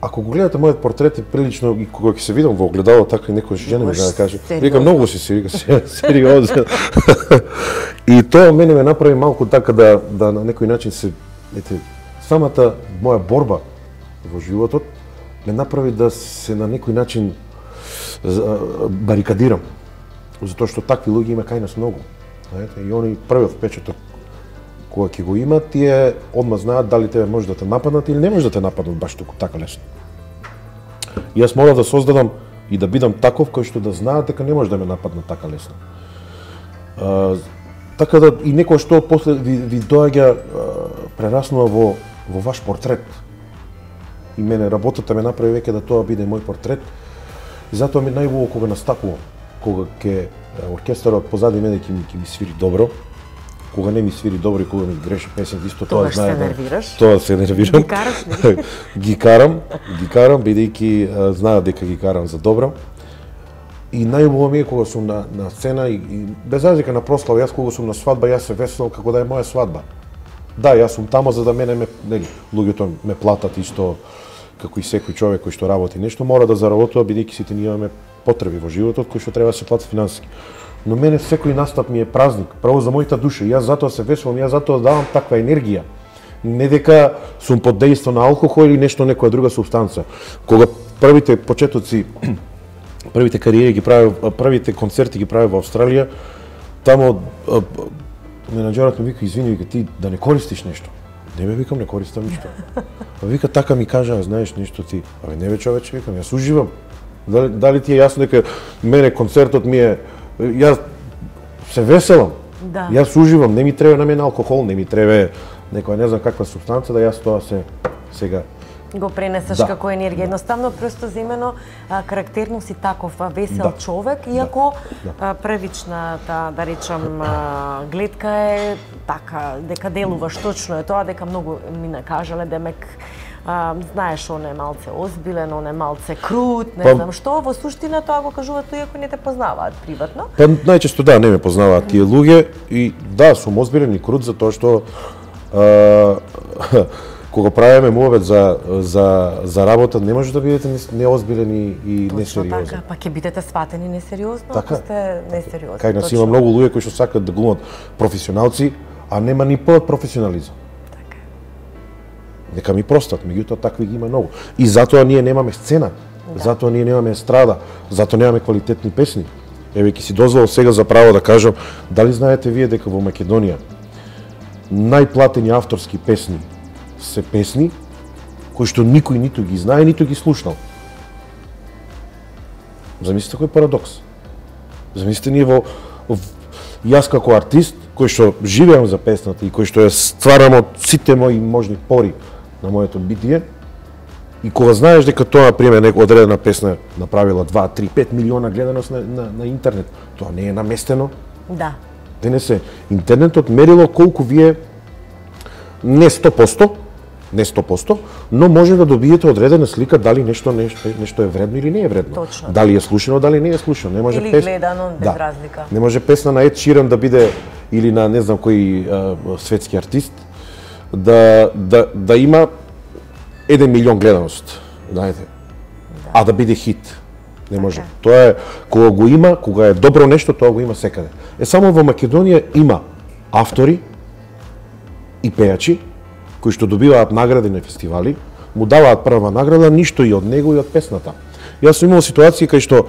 Ако го гледате мојот портрет е прилично, и кога ќе се видам во огледало, така и некој жена ми да каже, вика многу си сериозен. И тоа мене ме направи малку така да на некој начин се, самата моја борба во животот ме направи да се на некој начин барикадирам. Затоа што такви луѓе има кај нас многу. Знаете, и они првиот впечаток кога ќе го имат, тие одма знаат дали тебе може да те нападнат или не може да те нападнат баш така лесно. И јас морав да создадам и да бидам таков кој што да знаат дека не може да ме нападнат така лесно. Така да и некој што после ви доаѓа прераснува во ваш портрет. И мене работата ме направи веќе да тоа биде мој портрет. И затоа ми најубаво кога настапувам, кога ќе оркестарот позади мене ќе ми свири добро. Кога не ми свири добро и кога ми греши песен, исто тоа знае. Тоа се нервирам. Ги караш ли? Ги карам, бидејќи знаат дека ги карам за добро. И најубаво ми е кога сум на сцена и без разлика на прослава, јас кога сум на свадба, јас се веселам како да е моја свадба. Да, јас сум тамо за да мене луѓето ме платат исто како и секој човек кој што работи нешто, мора да заработува бидејќи сите ние имаме потреби во животот кои што треба да се платат финансиски. Но мене секој настап ми е празник, право за мојата душа. Јас затоа се веселам, јас затоа давам таква енергија. Не дека сум под дејство на алкохол или нешто некоја друга супстанца. Кога првите почетоци, првите кариери ги правев, првите концерти ги правев во Австралија, тамо менаџерот ми вика, извини, вика, ти да не користиш нешто. Не ме викам, не користам ништо. Вика, така ми кажа, знаеш нешто ти. Абе не бе човече, викам, јас уживам. Дали ти е јасно дека мене концертот ми е, јас се веселам. Да. Јас уживам, не ми треба на мене алкохол, не ми треба некоја не знам каква супстанца да јас тоа се сега го пренесеш како енергија. Едноставно, просто земено, карактерно си таков весел човек, иако првичната, да речам, гледка е така, дека делуваш точно е тоа, дека многу ми накажале, демек знаеш, он е малце озбилен, он е малце крут, не знам што, во суштина тоа го кажуваат луѓе кои не те познаваат приватно. Па најчесто да, не ме познаваат тие луѓе и да, сум озбилен и крут затоа што кога правиме муабет за работа, не може да бидете неозбилени и несериозни. Точно така, па ќе бидете сватени несериозно, ако сте несериозни. Кај нас има многу луѓе кои што сакаат да глумат професионалци, а нема ни п од професионализам. Така. Нека ми простат, меѓутоа такви ги има многу. И затоа ние немаме сцена, затоа ние немаме естрада, затоа немаме квалитетни песни. Еве ќе си дозволам сега за право да кажам, дали знаете вие дека во Македонија најплатени авторски песни се песни кои што никој ниту ги знае, ниту ги слушнал. Замислите кој парадокс. Замислите ние јас како артист, кој што живеам за песната и кој што ја стварам од сите мои можни пори на моето битие, и кога знаеш дека тоа, например, некоја одредена песна направила 2, 3, 5 милиона гледаност на интернет, тоа не е наместено. Да. Денес е интернетот мерило колку вие не 100%, но може да добиете одредена слика дали нешто е вредно или не е вредно. Точно. Дали е слушано, дали не е слушано. Не може или гледано без разлика. Не може песна на Ед Ширан да биде или на не знам кој светски артист да има 1 милион гледаност, знаете. Да. А да биде хит. Не може. Тоа е кога го има, кога е добро нешто, тоа го има секаде. Само во Македонија има автори и пејачи кои што добиваат награди на фестивали, му даваат прва награда, ништо и од него и од песната. Јас сум имал ситуации кај што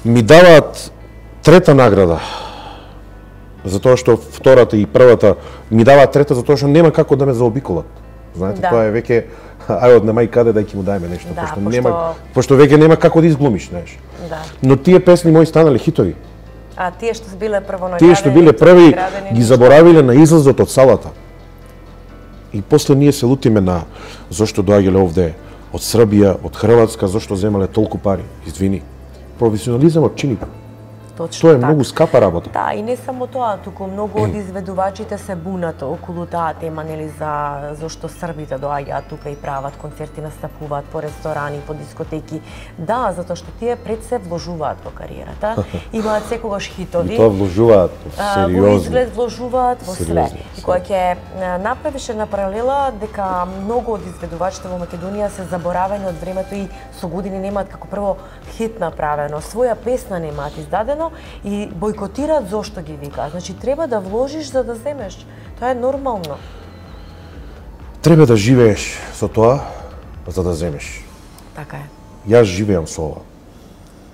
ми даваат трета награда, затоа што втората и првата ми даваат трета затоа што нема како да ме заобиколат. Знаете, тоа е веќе ај од нема и каде дај ќе му дајме нешто, пошто веќе нема како да изглумиш, знаеш. Да. Но тие песни мои станале хитови. А тие што биле прво тие што биле први ги заборавиле на излазот од салата. И после ние се лутиме на зошто доаѓале овде од Србија, од Хрватска, зошто земале толку пари. Извини. Професионализмот чини. Точно тоа е така. Многу скапа работа. Да, и не само тоа, туку многу од изведувачите се бунат околу таа тема, нели, за зошто србите доаѓаат тука и прават концерти, настапуваат по ресторани, по дискотеки. Да, затоа што тие пред се вложуваат во кариерата, имаат секогаш хитови. И тоа вложуваат сериозно. Во изглед вложуваат во све. И кога ќе направиш една паралела дека многу од изведувачите во Македонија се заборавени од времето и со години немаат како прво хит направено, своја песна немаат издадено и бойкотираат зошто ги викаат. Значи треба да вложиш за да земеш. Тоа е нормално. Треба да живееш со тоа за да земеш. Така е. Јас живеам со ова.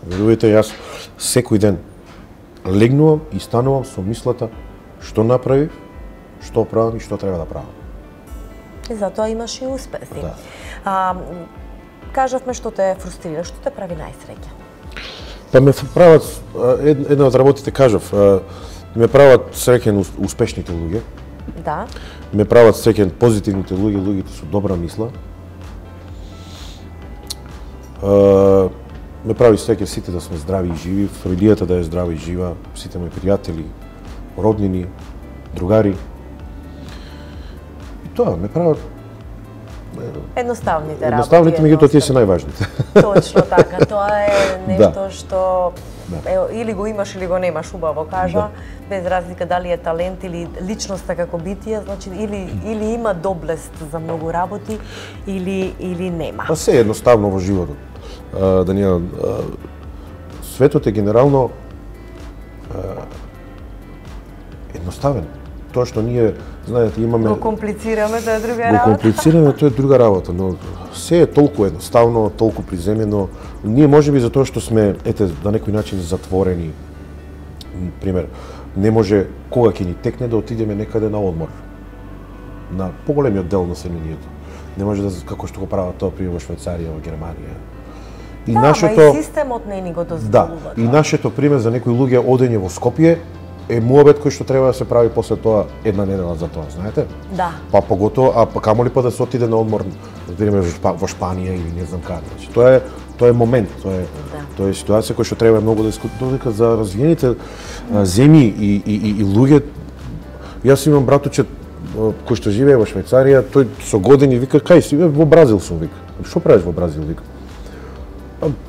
Верувате, јас секој ден легнувам и станувам со мислата што направив, што правам и што треба да правам. И затоа имаш и успеси. Да. Кажавме што те фрустрира, што те прави најсреќен? Па ме прават, една од работите кажав, ме прават среќен успешните луѓе. Да. Ме прават среќен позитивните луѓе, луѓето со добра мисла. Ме прави среќен сите да сме здрави и живи, фамилијата да е здрава и жива, сите мои пријатели, роднини, другари. И тоа ме прават едноставните работи. Едноставните, меѓутоа тие се најважните. Точно така, тоа е нешто што или го имаш или го немаш, убаво кажа, без разлика дали е талент или личноста како битие, значи или има доблест за многу работи или нема. Па се едноставно во животот. Даниела, светот е генерално едноставен. Тоа што ние, знаете, имаме... Го комплицираме, тоа е друга работа. Го комплицираме, тоа е друга работа, но се е толку едноставно, толку приземено. Ние можеби за тоа што сме, на некој начин затворени. Пример, не може кога ќе ни текне да отидеме некаде на одмор. На поголемиот дел на населението. Не може да, како што го прават тоа, пример, во Швајцарија, во Германија. И нашето... и системот не ни го дозволува. Да, и нашето, пример, за некои луѓе одење во Скопје, е муабет кој што треба да се прави после тоа една недела за тоа, знаете? Да. Па поготово, камоли па да се отиде на одмор, например во Шпанија или не знам каде. Значи, тоа е момент, тоа е ситуација која што треба многу да додека за развиените земји и луѓе. Јас имам братуче кој што живее во Швајцарија, тој со години вика, кај си, во Бразил сум, вика. Што правиш во Бразил, вика?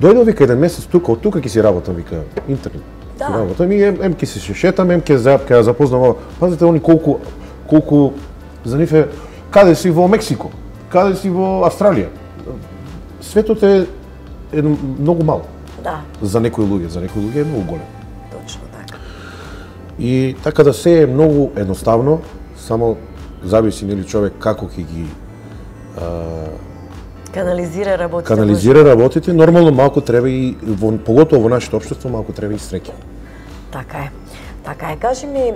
Дојдов, вика, еден месец тука, од тука ќе си работам, вика, интернет. Да. Работам и ем ќе се шетам, ем ќе ја запознам ова. Пазите, они колку за нив е, каде си во Мексико, каде си во Австралија. Светот е многу мал. Да. За некои луѓе е многу голем. Точно така. И така да се е многу едноставно, само зависи нели човек како ќе ги канализира работите, нормално малку треба и поготово во нашето општество малку треба и среќа. Така е. Така е. Кажи ми,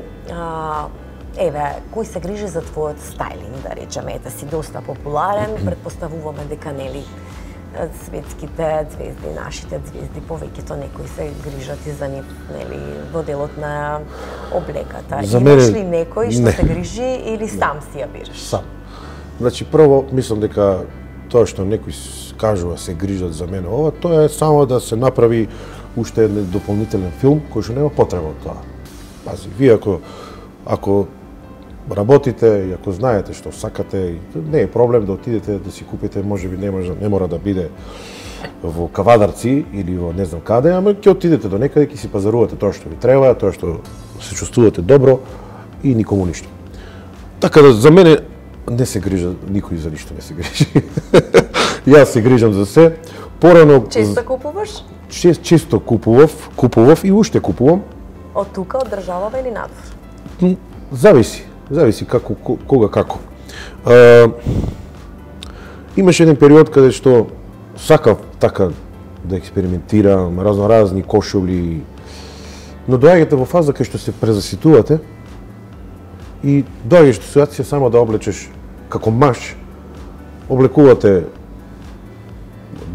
еве, кој се грижи за твојот стајлинг, да речеме, ете си доста популарен, претпоставуваме дека нели светските звезди, нашите звезди, повеќето некои се грижат и за нив, нели, во делот на облеката. Имаш ли некој што се грижи или сам си ја бираш? Сам. Значи, прво, мислам дека тоа што некои кажува се грижат за мене ова, тоа е само да се направи уште еден дополнителен филм кој што нема потреба од тоа. Пази, вие ако работите и ако знаете што сакате, не е проблем да отидете да си купите, можеби не мора да биде во Кавадарци или во не знам каде, ама ќе отидете до некаде, ќе си пазарувате тоа што ви треба, тоа што се чувствувате добро и никому ништо. Така да за мене не се грижа, никој за ништо не се грижи. Јас се грижам за се. Порано често купуваш? Често купував и уште купувам. Од тука, од државава или надвор? Зависи како, кога како. Имаше еден период каде што сакав така да експериментирам, разни кошули, но доаѓате во фаза кај што се презаситувате и доаѓаш до ситуација само да облечеш како маж, облекувате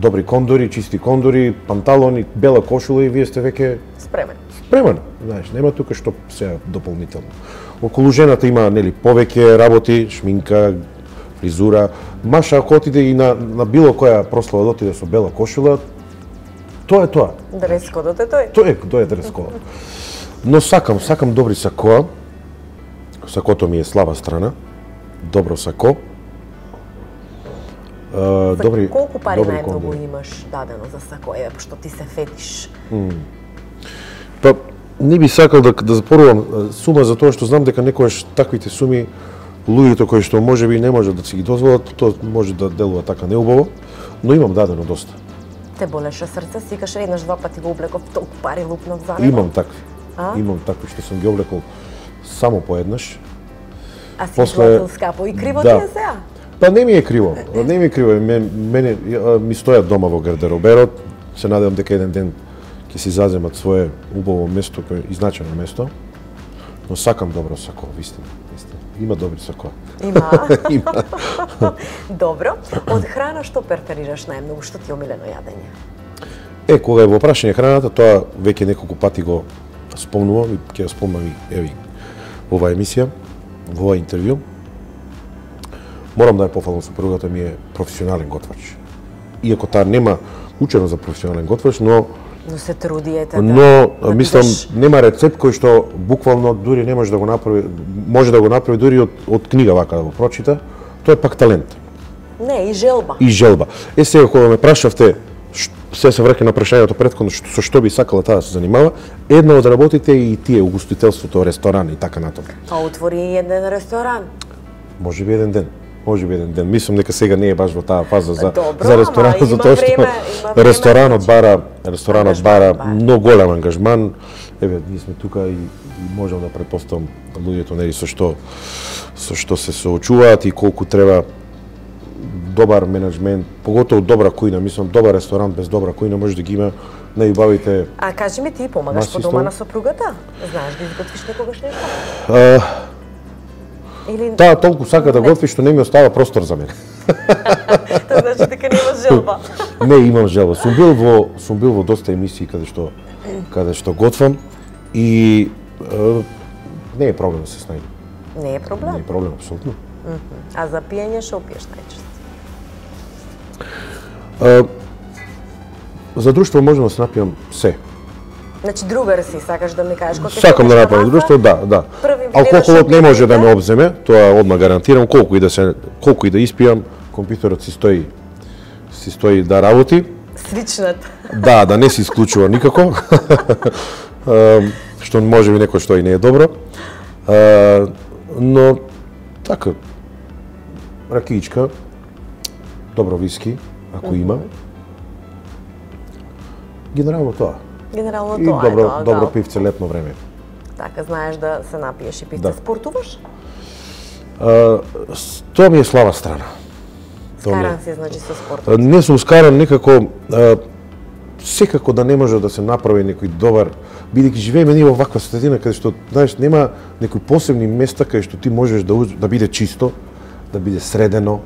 добри кондори, чисти кондори, панталони, бела кошула и вие сте веќе спремен. Знаеш, нема тука што се дополнително. Околу жената има нели повеќе работи, шминка, фризура. Маша ако отиде и на било која прослава да отиде со бела кошула, тоа е тоа. Дрес-кодот е тој. Тој е дрес-кодот. Но сакам добри сакоа. Сакото ми е слаба страна. Добро сако. Добри. Колку пари најмногу имаш дадено за сако, што ти се фетиш? Па не би сакал да запорувам сума за тоа што знам дека некогаш таквите суми луѓето кои што можеби не можат да си ги дозволат, тоа може да делува така неубаво, но имам дадено доста. Те болеше срце, сикаш еднаш два пати го облеков, толку пари лупнав за него? Имам такви што сум ги облекол само поеднаш. А си платил скапо и криво ти е сега? Па не ми е криво, мене ми стојат дома во гардероберот, се надевам дека еден ден ќе си заземат свое убаво место, кој е изначено место, но сакам добро сако, вистина. Има добри сакоа. Има. Добро. Од храна што преферираш најмногу, што ти е омилено јадење? Кога е во прашање храната, тоа веќе неколку пати го спомнувам и ќе ја спомнам и во оваа емисија, во ова интервју. Морам да ја пофалам, супругата ми е професионален готвач. Иако таа нема учено за професионален готвач, но се трудиете мислам, нема рецепт кој што буквално дури не може да го направи дури од книга вака да го прочита, тоа е пак талент. Не, и желба. Сега кога ме прашавте, се враќам на прашањето претходно, со што би сакала таа да се занимава, една од работите е и тие угостителството, ресторан и така натаму. А отвори еден ресторан? Можеби еден ден. Мислам дека сега не е баш во таа фаза за ресторан, затоа што ресторанот бара многу голем ангажман. Ние сме тука и можам да претпоставам луѓето нели со што се соочуваат и колку треба добар менеджмент, поготово добра кујна, мислам добар ресторант без добра кујна може да ги има најубавите. А кажи ми, ти помагаш по дома на сопругата? Знаеш да изготвиш некогаш нешто? Таа толку сака да готви што не ми остава простор за мене. Тоа значи дека немаш желба. Не, имам желба. Сум бил во доста емисии каде што готвам и не е проблем да се снајдем. Не е проблем? Не е проблем, апсолутно. А за пиење што пиеш најчесто? За друштво можам да се напијам се. Значи другар си, сакаш да ми кажеш кога ќе сакам да направам друштво, да. Први алкохолот не може да ме обземе, тоа одма гарантирам, колку и да испијам, компјутерот си стои да работи. Свичнат. Да не се исклучува никако. Што може би некој што и не е добро. Но така ракиичка, добро виски, ако има. Генерално тоа. И добро пивце летно време. Така, знаеш да се напиеш и пивце. Спортуваш? Тоа ми е слаба страна. Скаран си, значи, со спортот? Не сум скаран некако, секако да не може да се направи некој добар, бидејќи живееме ние во ваква средина каде што, знаеш, нема некои посебни места каде што ти можеш да биде чисто, да биде средено,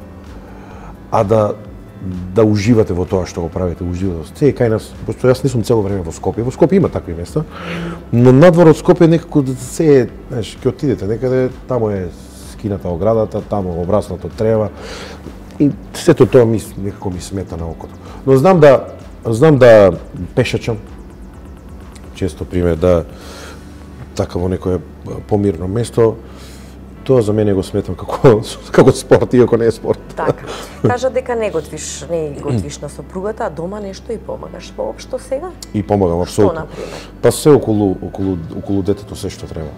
а да уживате во тоа што го правите, уживате. Се кај нас, пошто јас не сум цело време во Скопје. Во Скопје има такви места, но надвор од Скопје некако се, знаеш, ќе отидете некаде, таму е скината оградата, таму обраснато трева. И сето тоа некако ми смета на окото. Но знам да пешачам, често пример да така во некое помирно место, тоа за мене го сметам како спорт, иако не е спорт. Така. Кажа дека не готвиш на сопругата, а дома нешто и помагаш воопшто сега? И помагам, апсолутно. Што, например? Па се околу детето, се што треба.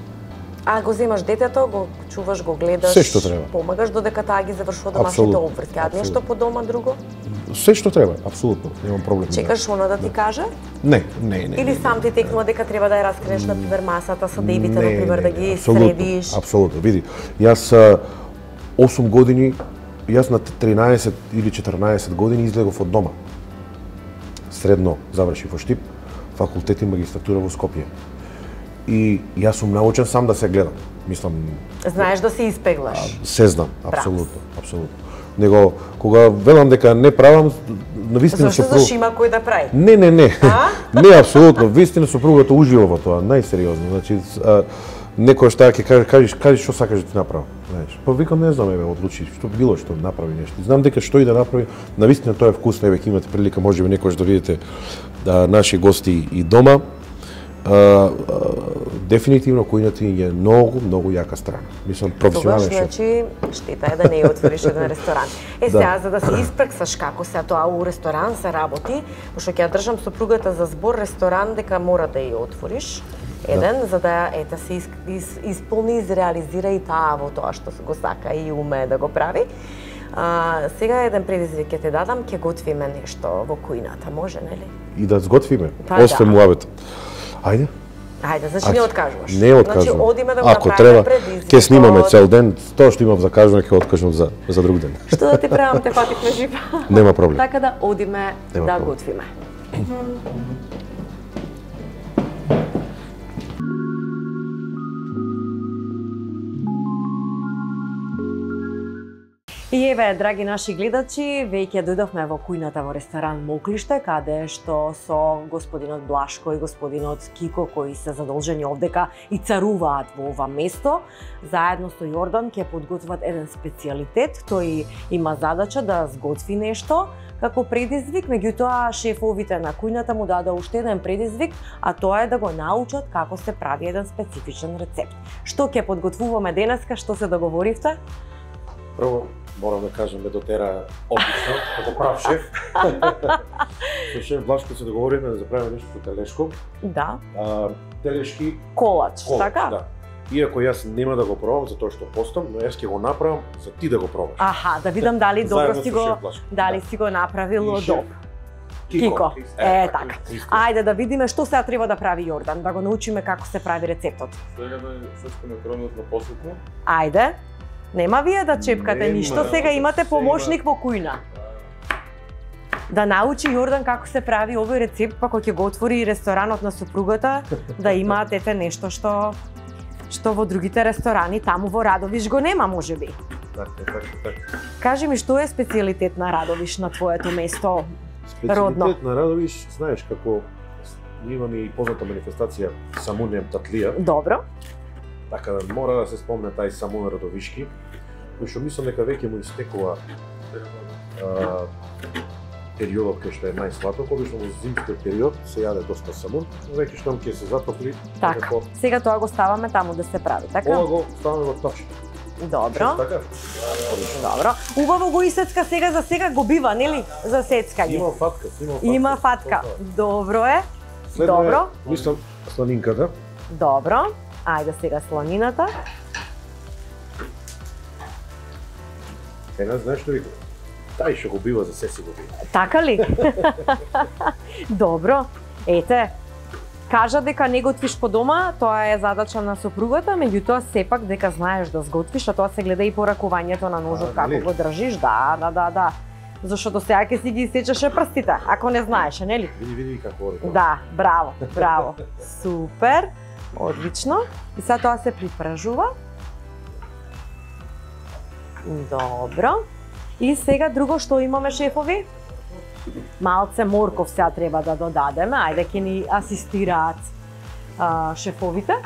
А го земаш детето, го чуваш, го гледаш, се што треба. Помагаш додека таа ги завршува домашните обврски. А нешто по дома друго? Се што треба, апсолутно, немам проблем. Чекаш она да ти каже? Не. Или сам ти текнува дека треба да ја раскренеш на пример масата со дебите, на пример да ги средиш? Апсолутно, види. Јас 8 години, јас на 13 или 14 години излегов од дома. Средно завршив во Штип, факултет и магистратура во Скопје. И јас сум научен сам да се гледам. Мислам, знаеш да се испеглаш. Се знам, апсолутно. Него кога велам дека не правам, навистина сопруга. Зашто има кој да прави? Не. Не, апсолутно. Вистина сопругата ужива во тоа, најсериозно. Значи, некој што ќе кажи што сакаш да ти направи, знаеш. Па викам не знам, одлучи што било што направи нешто. Знам дека што и да направи, навистина тоа е вкусно, ќе имате прилика можеби некојаш да видите наши гости и дома. Дефинитивно кујната е многу јака страна. Мислам професионален шеф. Значи штета е да не ја отвориш еден ресторан. Сега за да се испраксаш како се тоа у ресторан се работи, пошто ќе ја држам сопругата за збор ресторан дека мора да ја отвориш еден за да се исполни, изреализира и таа во тоа што го сака и умее да го прави. Сега еден предизвик ќе те дадам, ќе готвиме нешто во кујната, може нели? И да сготвиме, освен муабет. Ајде, значи не откажуваш. Не откажувам. Значи одиме да го ако направиме треба, предизвик. ќе снимаме цел ден, тоа што имам за кажуване ќе откажам за друг ден. Што да ти правам, те фативме жива. Нема проблем. Така да одиме да готвиме. И еве, драги наши гледачи, веќе дојдовме во кујната во ресторан Моклиште, каде што со господинот Блашко и господинот Кико, кои се задолжени овдека и царуваат во ова место, заедно со Јордан ќе подготват еден специјалитет. Тој има задача да сготви нешто како предизвик, меѓутоа шефовите на кујната му даде уште еден предизвик, а тоа е да го научат како се прави еден специфичен рецепт. Што ќе подготвуваме денеска, што се договоривте? Прво, морам да кажам, ме дотера одлично, како прав шеф. Со шеф Блашко се договориме да заправиме нешто со телешко. Да. Телешки колач, така? Да. Иако јас нема да го пробам затоа што постам, но јас ќе го направам за ти да го пробаш. Аха, да видам дали добро си го направил добро. Кико. Така. Ајде да видиме што сега треба да прави Јордан, да го научиме како се прави рецептот. Сега да сечкаме кронот на посуку. Ајде. Нема вие да чепкате ништо, сега имате помошник во кујна. Да научи Јордан како се прави овој рецепт, па кога ќе го отвори ресторанот на сопругата, да имаат ете нешто што во другите ресторани таму во Радовиш го нема можеби. Така. Кажи ми што е специјалитет на Радовиш на твоето место родно? Специјалитет на Радовиш, знаеш како имаме и позната манифестација Самунем Татлија. Добро. Така да мора да се спомне тај Самун Радовишки, кој што мислам дека веќе му истекува периодот кај што е најсладок, обично во зимскиот период се јаде доста самун, веќе штом ќе се затопли. Така, сега тоа го ставаме таму да се прави, така? Ова го ставаме во топчето. Добро. Така? Добро. Убаво го исецка сега за сега го бива, нели? За сецкање. Има фатка, Има фатка. Добро е. Следно Добро. Мислам сланинката. Добро. Ајде сега сланината. Една знаеш што викам? Тај што го бива за се си го бива. Така ли? Добро. Ете, кажа дека не готвиш по дома, тоа е задача на сопругата, меѓутоа сепак дека знаеш да сготвиш, а тоа се гледа и по ракувањето на ножот како го држиш. Да. Зашто сега ќе си ги исечеше прстите, ако не знаеше, нели? Види како ори. Да, браво. Супер. Одлично. И сега тоа се припржува. Добро. И сега друго што имаме, шефови? Малце морков сега треба да додадеме. Ајде ќе ни асистираат шефовите.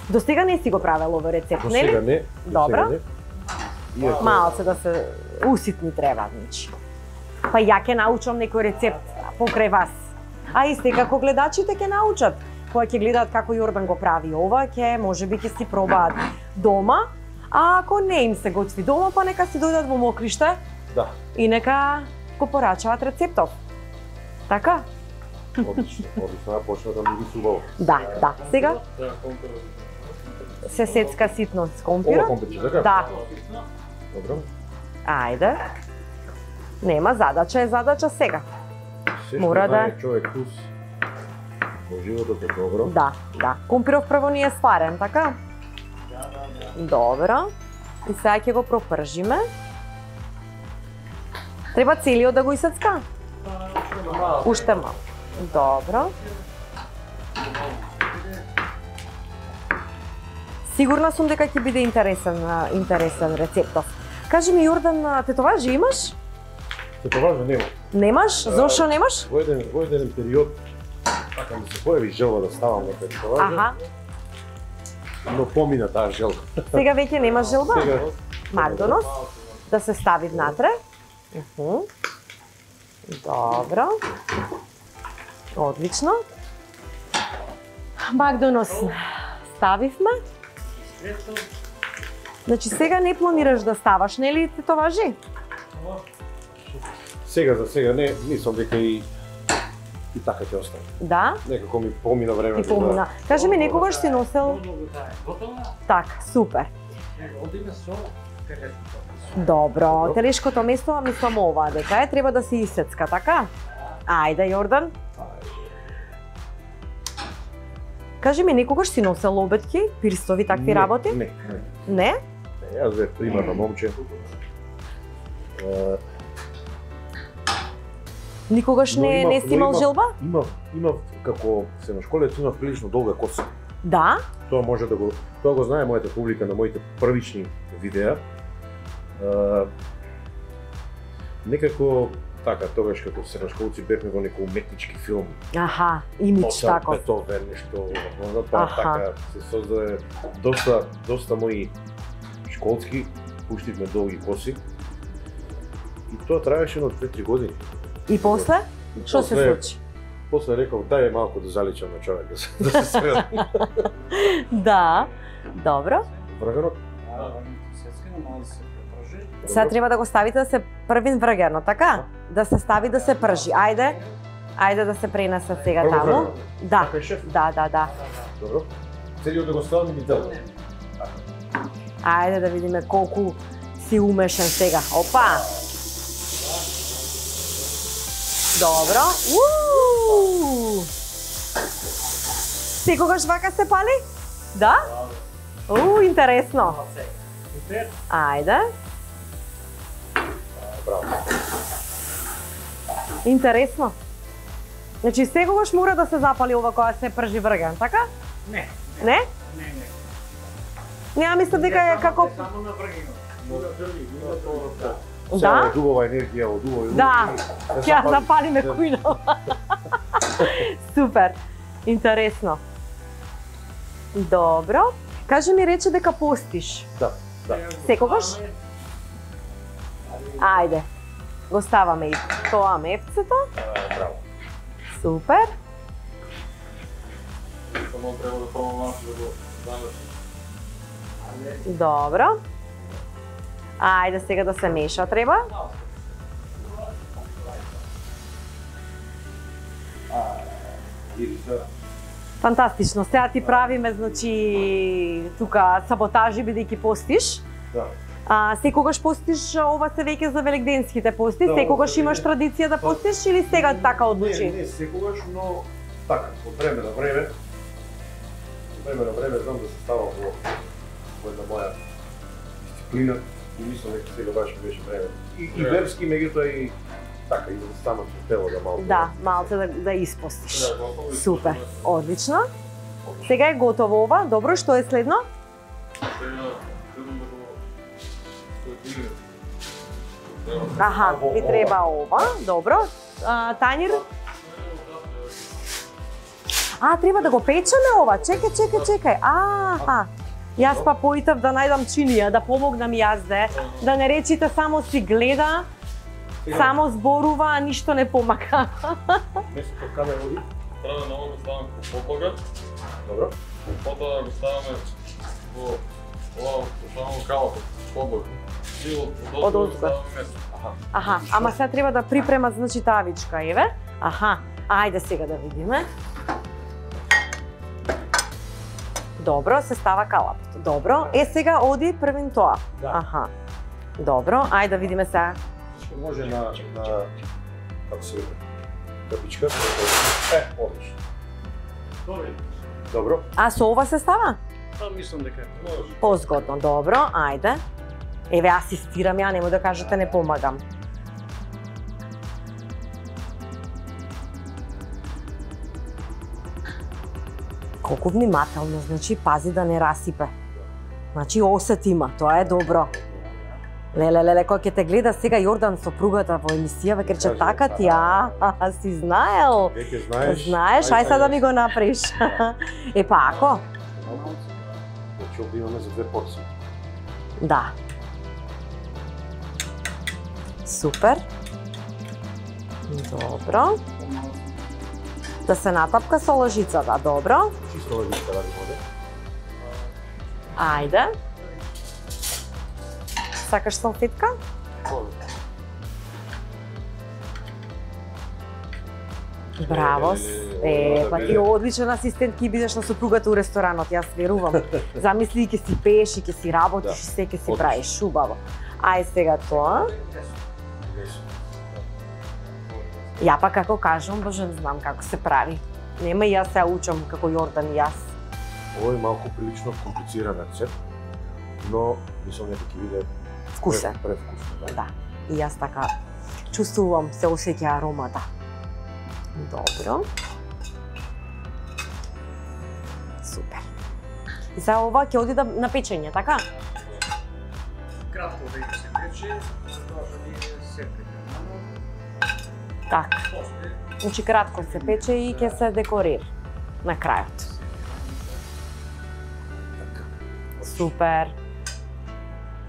До сега не си го правел овој рецепт, нели? До сега не. Добро. Малце да се уситни треба, значи. Па ја ќе научам некој рецепт покрај вас. А и секако гледачите ќе научат. Кога ќе гледаат како Јордан го прави ова, ќе можеби ќе си пробаат дома. А ако не им се готви дома, па нека си дојдат во Мокриште. Да. И нека го порачаат рецептов. Така? Одлично, почна да мириси убаво. Да. Сега се сецка ситно с компирот. Ова компирче, така? Да. Добро. Ајде. Нема задача, е задача сега. Мора да човек вкус во животот е добро. Да. Компиров прво ни е сварен, така? Добро. И сега ќе го пропржиме. Треба целиот да го исецка? Уште мал. Добро. Сигурна сум дека ќе биде интересен рецептов. Кажи ми, Јордан, тетоважи имаш? Тетоважи нема. Немаш? Зошто немаш? Во еден период така ми се појави желба да ставам на тетоважи. Аха. Но помина таа желба. Сега веќе немаш желба? Сега Магдонос да се стави внатре. Добро. Одлично. Магдонос ставивме. Значи сега не планираш да ставаш, нели тетоважи? Сега за сега не, мислам дека и така ќе остане. Да? Некако ми помина време. И помина. Кажи ми, некогаш си носел... Так, супер. Добро, телешкото место, мислам ова, дека е, треба да се исецка, така? Ајде, Јордан. Кажи ми, некогаш си носел обетки, пирстови, такви работи? Не. Не? Јас бев примерно момче. Никогаш не си имал желба? Имав, како средношколец, имав прилично долга коса. Да? Тоа го знае мојата публика на моите првични видеа. Некако така, тогаш како средношколци бевме во некој уметнички филм. Аха, имидж тако. Бетовен, нешто, па така се создаде доста мои школски, пуштивме долги коси. И тоа траеше на 2-3 години. И после? Што се случи? После реков, дај малку да заличам на човек, да се средам. Да, добро. Врагарот? Сега треба да го ставите да се првин врагерно, така? Да се стави да се пржи. Ајде да се пренесе сега таму. Да. Да. Добро. Целиот да го ставам или дел? Ајде да видиме колку си умешен сега. Опа! Добро. Секогаш вака се пали? Да? Интересно. Ајде. Браво. Интересно. Значи секогаш мора да се запали ова кога се пржи врген, така? Не. Не? Не. Мислам дека е како... Само на вргенот. Да? Дубова енергија, од убави. Да, ќе запалиме кујно. Супер, интересно. Добро. Кажи ми, рече дека постиш. Да. Секогаш? Ајде. го ставаме и тоа мефцето. Браво. Супер. Само треба да пробам малку да го замесам. Добро. Ајде сега да се меша треба. Фантастично. Сега ти правиме, значи, тука саботажи бидејќи постиш. Да. Секогаш постиш, ова се веќе за великденските пости, Да, секогаш ова имаш е- традиција да постиш или сега така одлучи? Не секогаш, но така, од време на време. Од време на време знам да се ставам во една моја дисциплина и мислам дека сега баш ми беше време. И верски, меѓутоа и така, и за самото тело да малку. Да, малце да испостиш. Да, готово и Супер, готово. одлично. Сега е готово ова. Добро, што е следно? Сега требам да го соединим. Аха, ви треба ова. Добро. Тањир? Треба да го печеме ова. Чекај. Јас па поитав да најдам чинија, да помогнам јас да не речите само си гледа, само зборува, а ништо не помага. Место камера води. Треба да го ставам по подлога, Добро. потоа го ставаме во ова само калапот, подлога. И од озго. ставаме место. Аха, ама сега треба да припремат, значи, тавичка, еве. Аха, ајде сега да видиме. Добро, се става калапот. Добро, сега оди првин тоа. Да. Аха. Добро, ајде да видиме сега. Може на како се вика, капичка. Одлично. Добро. А со ова се става? Мислам дека Може. Позгодно, добро, ајде. Еве, асистирам ја, нема да кажете не помагам. Колку внимателно, значи, пази да не расипе. Значи, осет има, тоа е добро. Леле, кој ќе те гледа сега Јордан сопругата во емисија, веќе рече, така ти, си знаел. Веќе знаеш. Знаеш, ај сега да ми го направиш. Па ако? Значи овде имаме за 2 порции. Да. Супер. Добро. Да се натапка со лъжицата, добро. Чисто лъжица ради воде. Ајде. Сакаш салфетка? Браво. Па ти одличен асистент ќе бидеш на супругата у ресторанот, јас верувам. Замисли, ќе си пееш и ќе си работиш и се ќе си правиш убаво. Ај сега тоа. Ја па како кажам, боже, знам како се прави. Нема и јас се учам како Јордан и јас. Ово е малку прилично комплициран рецепт, но мислам дека ќе биде Вкусен. превкусно. Да. И јас така чувствувам, се осеќа аромата. Добро. Супер. И сега ова ќе оди на печење, така? кратко веќе се пече, затоа што ние се прекарано. Така. После Значи кратко се пече и ќе се декорира на крајот. Супер.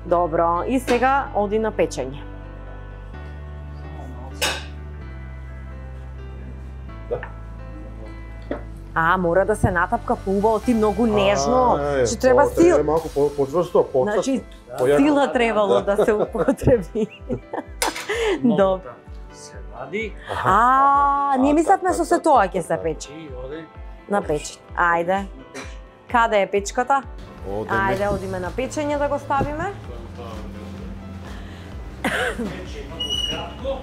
Добро. И сега оди на печење. Мора да се натапка поубаво, ти многу нежно. Че треба сила. Малку почврсто, Значи, сила требало да се употреби. Добро. се вади. Ние мислевме со се тоа ќе се пече. И оди На печење. Ајде. Каде е печката? Ајде, одиме на печење да го ставиме. пече многу кратко.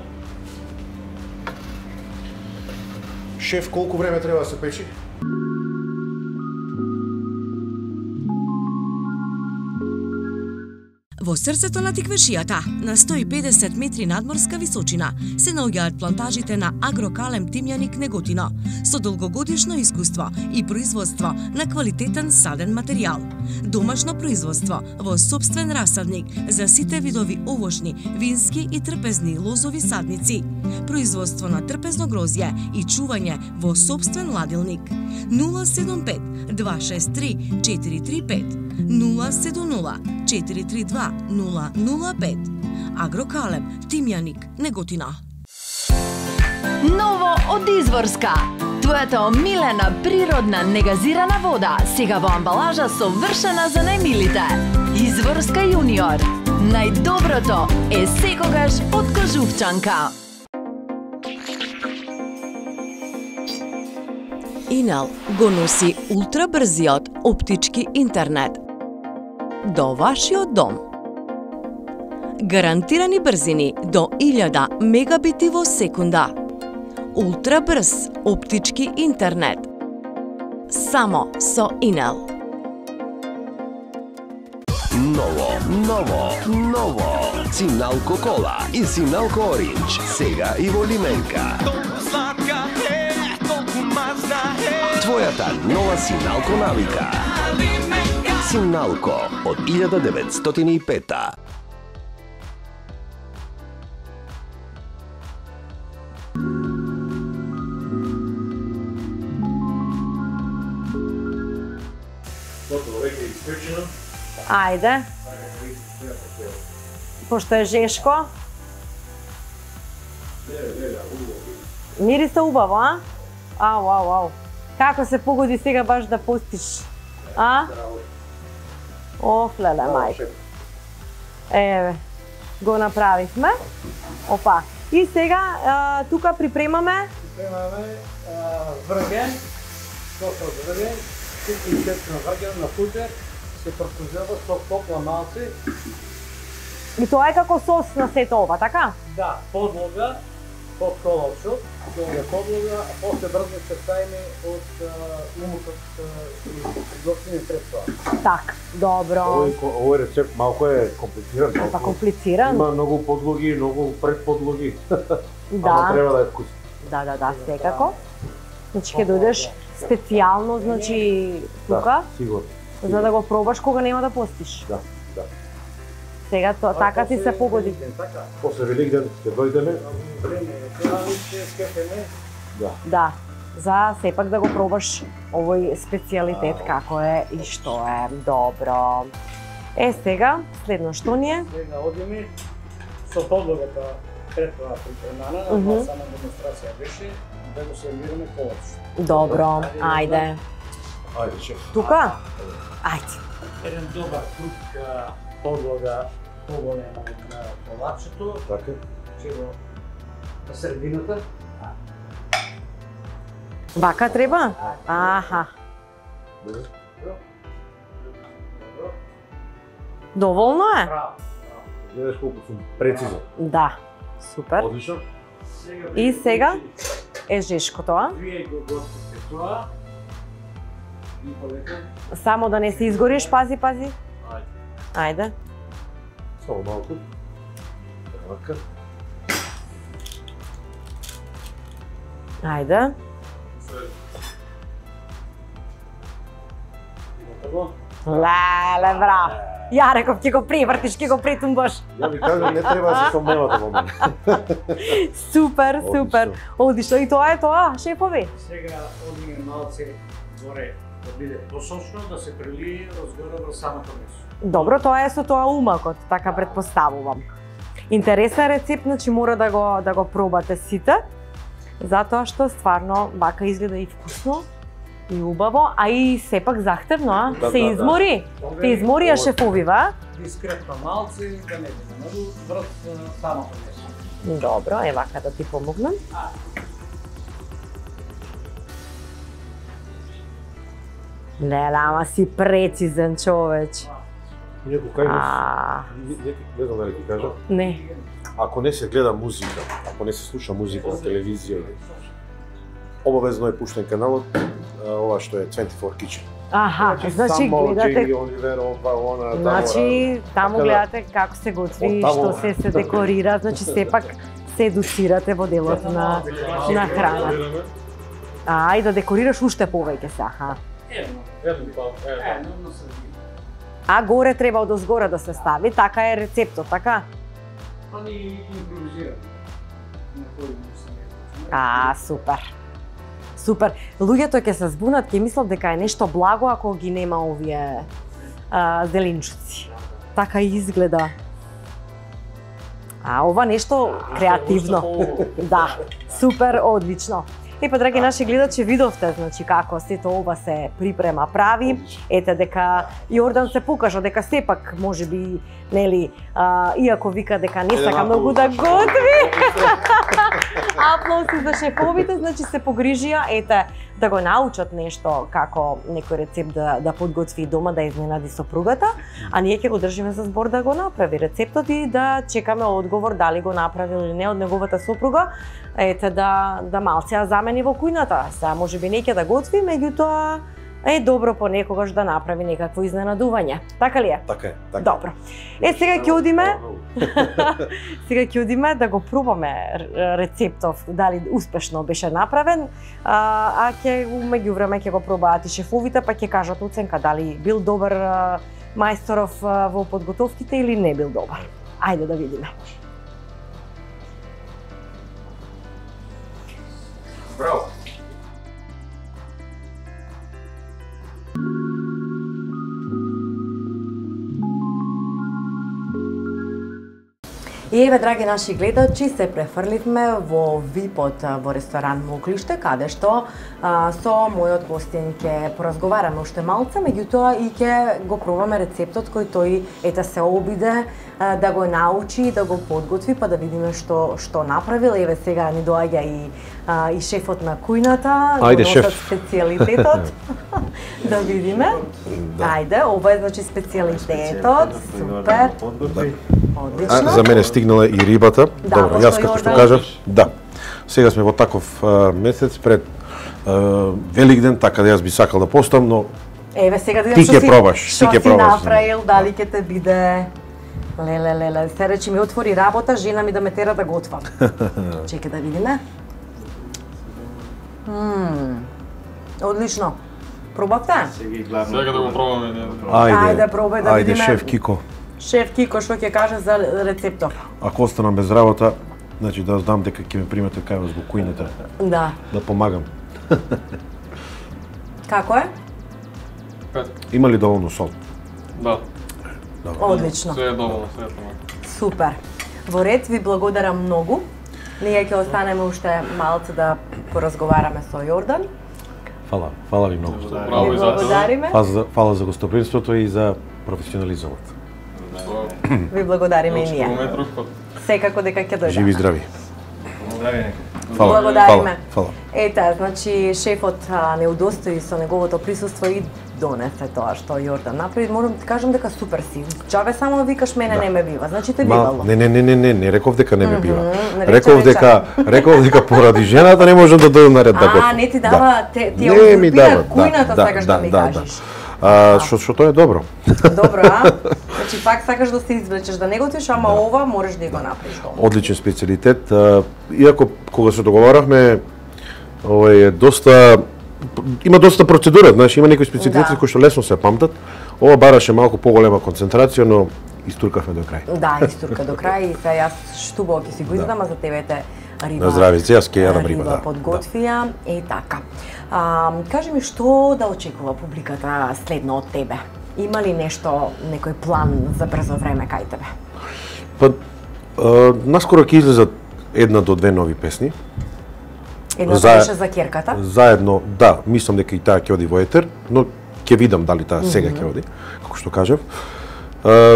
Шеф, колку време треба да се печи? Во срцето на Тиквешијата, на 150 метри надморска височина, се наоѓаат плантажите на Агрокалем Тимјаник Неготино, со долгогодишно искуство и производство на квалитетен саден материјал. Домашно производство во сопствен расадник за сите видови овошни, вински и трпезни лозови садници. Производство на трпезно грозје и чување во сопствен ладилник. 075 263 435 070 432 005. Агрокалем, Тимјаник, Неготина. Ново од Изворска. Твојата омилена природна негазирана вода сега во амбалажа совршена за најмилите. Изворска јуниор. Најдоброто е секогаш од Кожувчанка. Инел го носи ултрабрзиот оптички интернет до вашиот дом. Гарантирани брзини до 1000 мегабити во секунда. Ултрабрз оптички интернет. Само со Инел. Ново. Синалко кола и Синалко оринџ. Сега и во лименка. Твојата нова Синалко навика. Синалко од 1905. Ајде. Пошто е жешко. Мириса убаво, а? Ау. Како се погоди сега баш да постиш? А? Оф, леле, мајка. Еве, го направивме. Опа. И сега тука припремаме врген, сосо врген, и чепна врген на футер, се прокузува со топла малце. И тоа е како сос на сето ова, така? Да, подлога, под коловчот, долга подлога, а после брзо се ставиме од умутот готвени средства. Так, добро. Овој рецепт малку е комплициран. Па комплициран? Има многу подлоги, многу предподлоги. Да. Ама треба да е вкусно. Да, секако. Значи ќе дојдеш специјално, значи тука, Сигурно. за да го пробаш кога нема да постиш. Да. Сега тоа така ти се погоди. После Великден ќе дојдеме. Да, за сепак да го пробаш овој специјалитет како е и што е. Добро. Сега, следно што ни е? Сега одиме со подлогата пред тоа припремана, на сама демонстрација беше, да го сервираме коловчето. Добро, ајде. Ајде, шеф. Тука? Ајде. Еден добар круг подлога поголема на колапчето, Така. че го на средината. Вака треба? Аха. Доволно е? Гледаш колку сум прецизен. Да. Супер. Одлично. И сега е жешко тоа. Вие го готвите тоа. И полека. Само да не се изгориш, пази. Ајде. Само малку. Така. Ајде. Леле, браво. Ја реков, ќе го превртиш, ќе го претумбаш. Ја ви кажам, не треба да се сомневате во мене. Супер. Одлично. И тоа е тоа, шефови. Сега одиме малце горе да биде посочно, да се прелие разгоре во самото месо. Добро, тоа е со тоа умакот, така претпоставувам. Интересен рецепт, значи мора да го пробате сите, затоа што стварно вака изгледа и вкусно, и убаво, а и сепак захтевно, а? Да, се измори? Те изморија шефовива? Дискретно малце, да не биде многу врз самото месо. Добро, е вака да ти помогнам. Леле, ама си прецизен човеч. Некој кај не знам дали ти кажа. Не. Ако не се гледа музика, ако не се слуша музика на телевизија, обавезно е пуштен каналот, ова што е 24 Kitchen. Аха, значи гледате... Джейми Оливер, она, Значи, таму Така да, гледате како се готви, оттаму. што се декорира, значи сепак се едуцирате во делот на храна. И да декорираш уште повеќе се, аха. Едно на средина. А горе треба одозгора да се стави, така е рецептот, така? Па ни импровизираме. Супер. Луѓето ќе се збунат, ќе мислат дека е нешто благо ако ги нема овие зеленчуци. Така изгледа. А ова нешто креативно. Да, супер, одлично. Па, драги наши гледачи, видовте значи како сето ова се припрема, прави. Ете дека Јордан се покажа дека сепак можеби, нели, иако вика дека не сака многу да готви. Аплауси за шефовите, значи се погрижија, ете, да го научат нешто како некој рецепт да подготви дома, да изненади сопругата, а ние ќе го држиме за збор да го направи рецептот и да чекаме одговор дали го направил или не од неговата сопруга. Ете да малце ја замени во кујната. Сега можеби не ќе да готви, меѓутоа е добро понекогаш да направи некакво изненадување. Така ли е? Така е. Така. Добро. Сега ќе одиме. Сега ќе одиме да го пробаме рецептов, дали успешно беше направен, а ќе меѓувреме ќе го пробаат и шефовите, па ќе кажат оценка дали бил добар мајсторов во подготовките или не бил добар. Ајде да видиме. Браво! И еве, драги наши гледачи, се префрливме во VIP-от во ресторан Моклиште, каде што со мојот гостин ќе поразговараме уште малце, меѓутоа и ќе го пробаме рецептот кој тој ете се обиде да го научи, да го подготви, па да видиме што направил. Еве сега ни доаѓа и шефот на кујната, Ајде, шеф. специјалитетот. Да видиме. Ајде, ова е значи специјалитетот. Супер. Одлично. За мене стигнала и рибата. Да, добро, јас како што кажав, да. Сега сме во таков месец пред Великден, така да јас би сакал да постам, но еве сега да ти ќе пробаш, што си направил, дали ќе те биде. Леле, се речи ми отвори работа, жена ми да ме тера да готвам. Чекај да видиме. Одлично. Пробавте? Сега да го пробаме ние. Ајде, пробај да видиме. Ајде, шеф Кико. Шеф Кико, што ќе каже за рецептот? Ако останам без работа, значи да знам дека ќе ме примете кај вас во кујната, Да. да помагам. Како е? Има ли доволно сол? Да. Одлично. Се е доволно, се е доволно. Супер. Во ред, ви благодарам многу. Ние ќе останеме уште малце да поразговараме со Јордан. Фала ви многу. Браво Ви и за тоа. благодариме. Фала за гостопримството и за професионализмот. Ви благодариме и ние. Чекуваме друг пат. Секако дека ќе дојдеме. Живи и здрави. Здрави. Благодариме. Фала. Ете, значи шефот не удостои со неговото присуство и донесе тоа што Јордан направи. Морам да ти кажам дека супер си. Чаве само викаш мене не ме бива, значи те бивало. Не реков дека не ме бива. Нарече Реков дека поради жената не можам да дојдам на ред да готвам. Не ти дава, ти Не ми окупира дава, кујната, сакаш да ми кажеш. Што тоа е добро. Добро, а? Значи пак сакаш да се извлечеш, да не готвиш, ама ова можеш да го направиш дома. Одличен специјалитет. Иако кога се договаравме, е доста има доста процедура, значи има некои специјалитети кои што лесно се памтат. Ова бараше малку поголема концентрација, но истуркавме до крај. Да, истурка до крај и се јас штубаво ќе си го издам, а за тебе те риба. На здравице, јас ќе јадам риба, да. Подготвија и така. Кажи ми што да очекува публиката следно од тебе? Има ли нешто, некој план за брзо време кај тебе? Па, наскоро ќе излезат 1 до 2 нови песни. Едно беше за керката? Заедно, да, мислам дека и таа ќе оди во етер, но ќе видам дали таа сега ќе оди, како што кажав.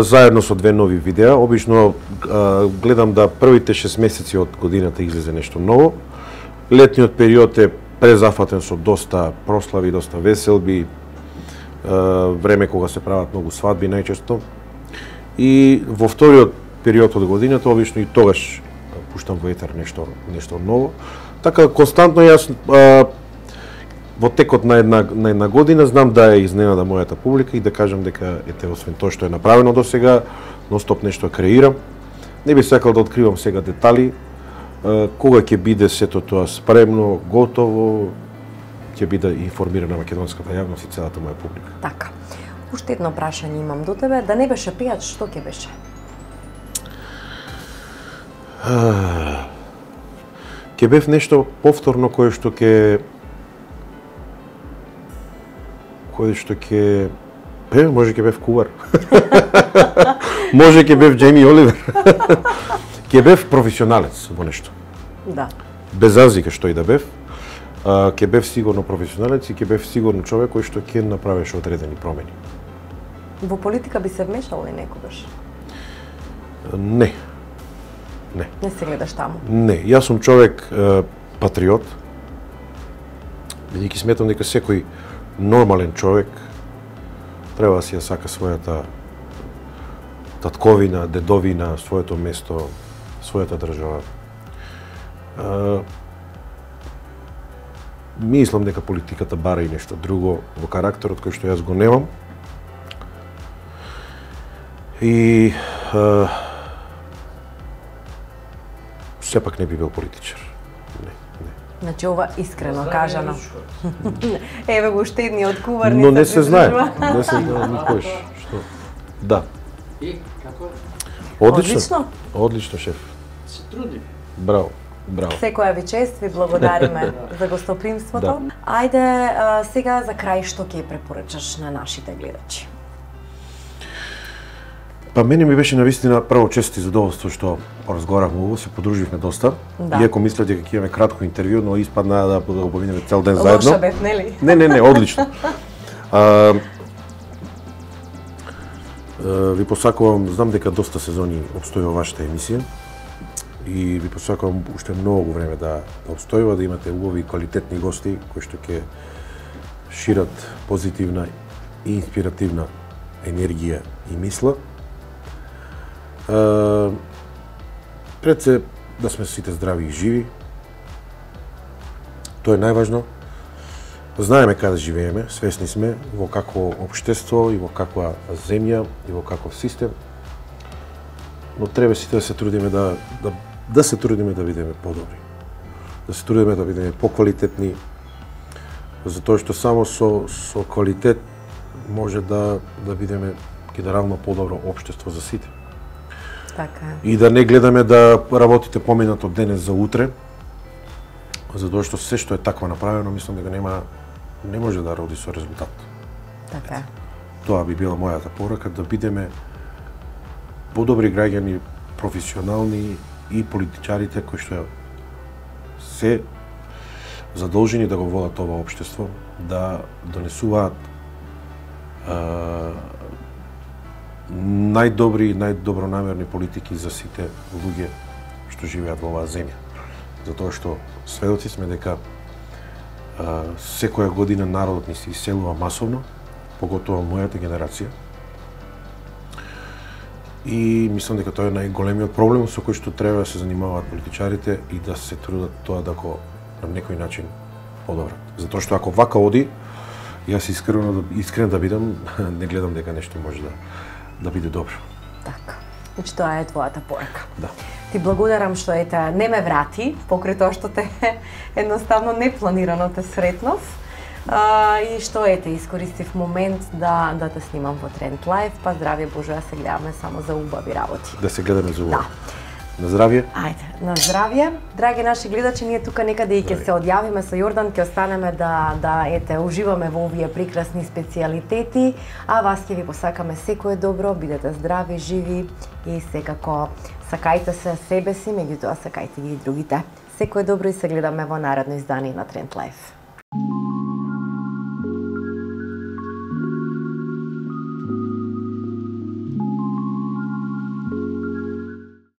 Заедно со 2 нови видеа, обично гледам да првите 6 месеци од годината излезе нешто ново. Летниот период е презафатен со доста прослави, доста веселби, време кога се прават многу свадби најчесто. И во вториот период од годината обично и тогаш пуштам во етер нешто ново. Така константно јас во текот на една година знам да ја изненада мојата публика и да кажам дека ете освен тоа што е направено досега, ностоп нешто креирам. Не би сакал да откривам сега детали. Кога ќе биде сето тоа спремно, готово, ќе биде информирана македонската јавност и целата моја публика. Така. Уште едно прашање имам до тебе. Да не беше пејач, што ќе беше? Ќе бев нешто повторно кое што ќе Може ќе бев кувар. Може ќе бев Джейми Оливер. Ќе бев професионалец во нешто. Да. Без разлика што и да бев, ќе бев сигурно професионалец и ќе бев сигурно човек кој што ќе направеше одредени промени. Во политика би се вмешал ли некогаш? Не. Не се гледаш таму? Не, јас сум човек патриот, бидејќи сметам дека секој нормален човек треба да си ја сака својата татковина, дедовина, своето место, својата држава. Мислам дека политиката бара и нешто друго во карактерот кој што јас го немам. И сепак не би бил политичар. Не. Значи ова искрено кажано. Еве го штедниот кувар. Но не се знае. Не се знае никош. Што? Да. И како? Одлично, шеф. Се труди. Браво. Секоја ви чест, ви благодариме за гостопримството. Да. Ајде, сега за крај што ќе препорачаш на нашите гледачи? Па мене ми беше навистина прво чест и задоволство што разговаравме ово, се подруживме доста. Да. Иако мислев дека ќе имаме кратко интервју, но испадна да го поминеме цел ден заедно. Лоша бев, нели? Не, одлично. Ви посакувам, знам дека доста сезони обстојува вашата емисија и ви посакувам уште многу време да обстојува, да имате убави квалитетни гости кои што ќе шират позитивна и инспиративна енергија и мисла. Пред се да сме сите здрави и живи. Тоа е најважно. Знаеме каде живееме, свесни сме во какво општество и во каква земја и во каков систем. Но треба сите да се трудиме да се трудиме да бидеме подобри. Да се трудиме да бидеме поквалитетни, затоа што само со квалитет може да бидеме генерално подобро општество за сите. Така. И да не гледаме да работите поминато денес за утре, затоа што се што е такво направено, мислам дека не може да роди со резултат. Така. Тоа би била мојата порака, да бидеме подобри граѓани, професионални и политичарите кои што се задолжени да го водат ова општество, да донесуваат најдобри и најдобронамерни политики за сите луѓе што живеат во оваа земја. Затоа што сведоци сме дека секоја година народот ни се иселува масовно, поготово мојата генерација. И мислам дека тоа е најголемиот проблем со кој што треба да се занимаваат политичарите и да се трудат тоа да го на некој начин подобрат. Затоа што ако вака оди, јас искрен да бидам, не гледам дека нешто може да биде добро. Така. Значи тоа е твојата порака. Да. Ти благодарам што не ме врати, покрај тоа што те едноставно непланирано те сретнав. И што искористив момент да те снимам во Тренд Лайв, па здравје Боже, да се гледаме само за убави работи. Да се гледаме за убави. Да. На здравје. Ајде, на здравје. Драги наши гледачи, ние тука некаде и ќе се одјавиме со Јордан, ќе останеме да уживаме во овие прекрасни специјалитети, а вас ќе ви посакаме секое добро, бидете здрави, живи и секако сакајте се себе си, меѓутоа сакајте ги и другите. Секое добро и се гледаме во наредно издание на Тренд Лайв.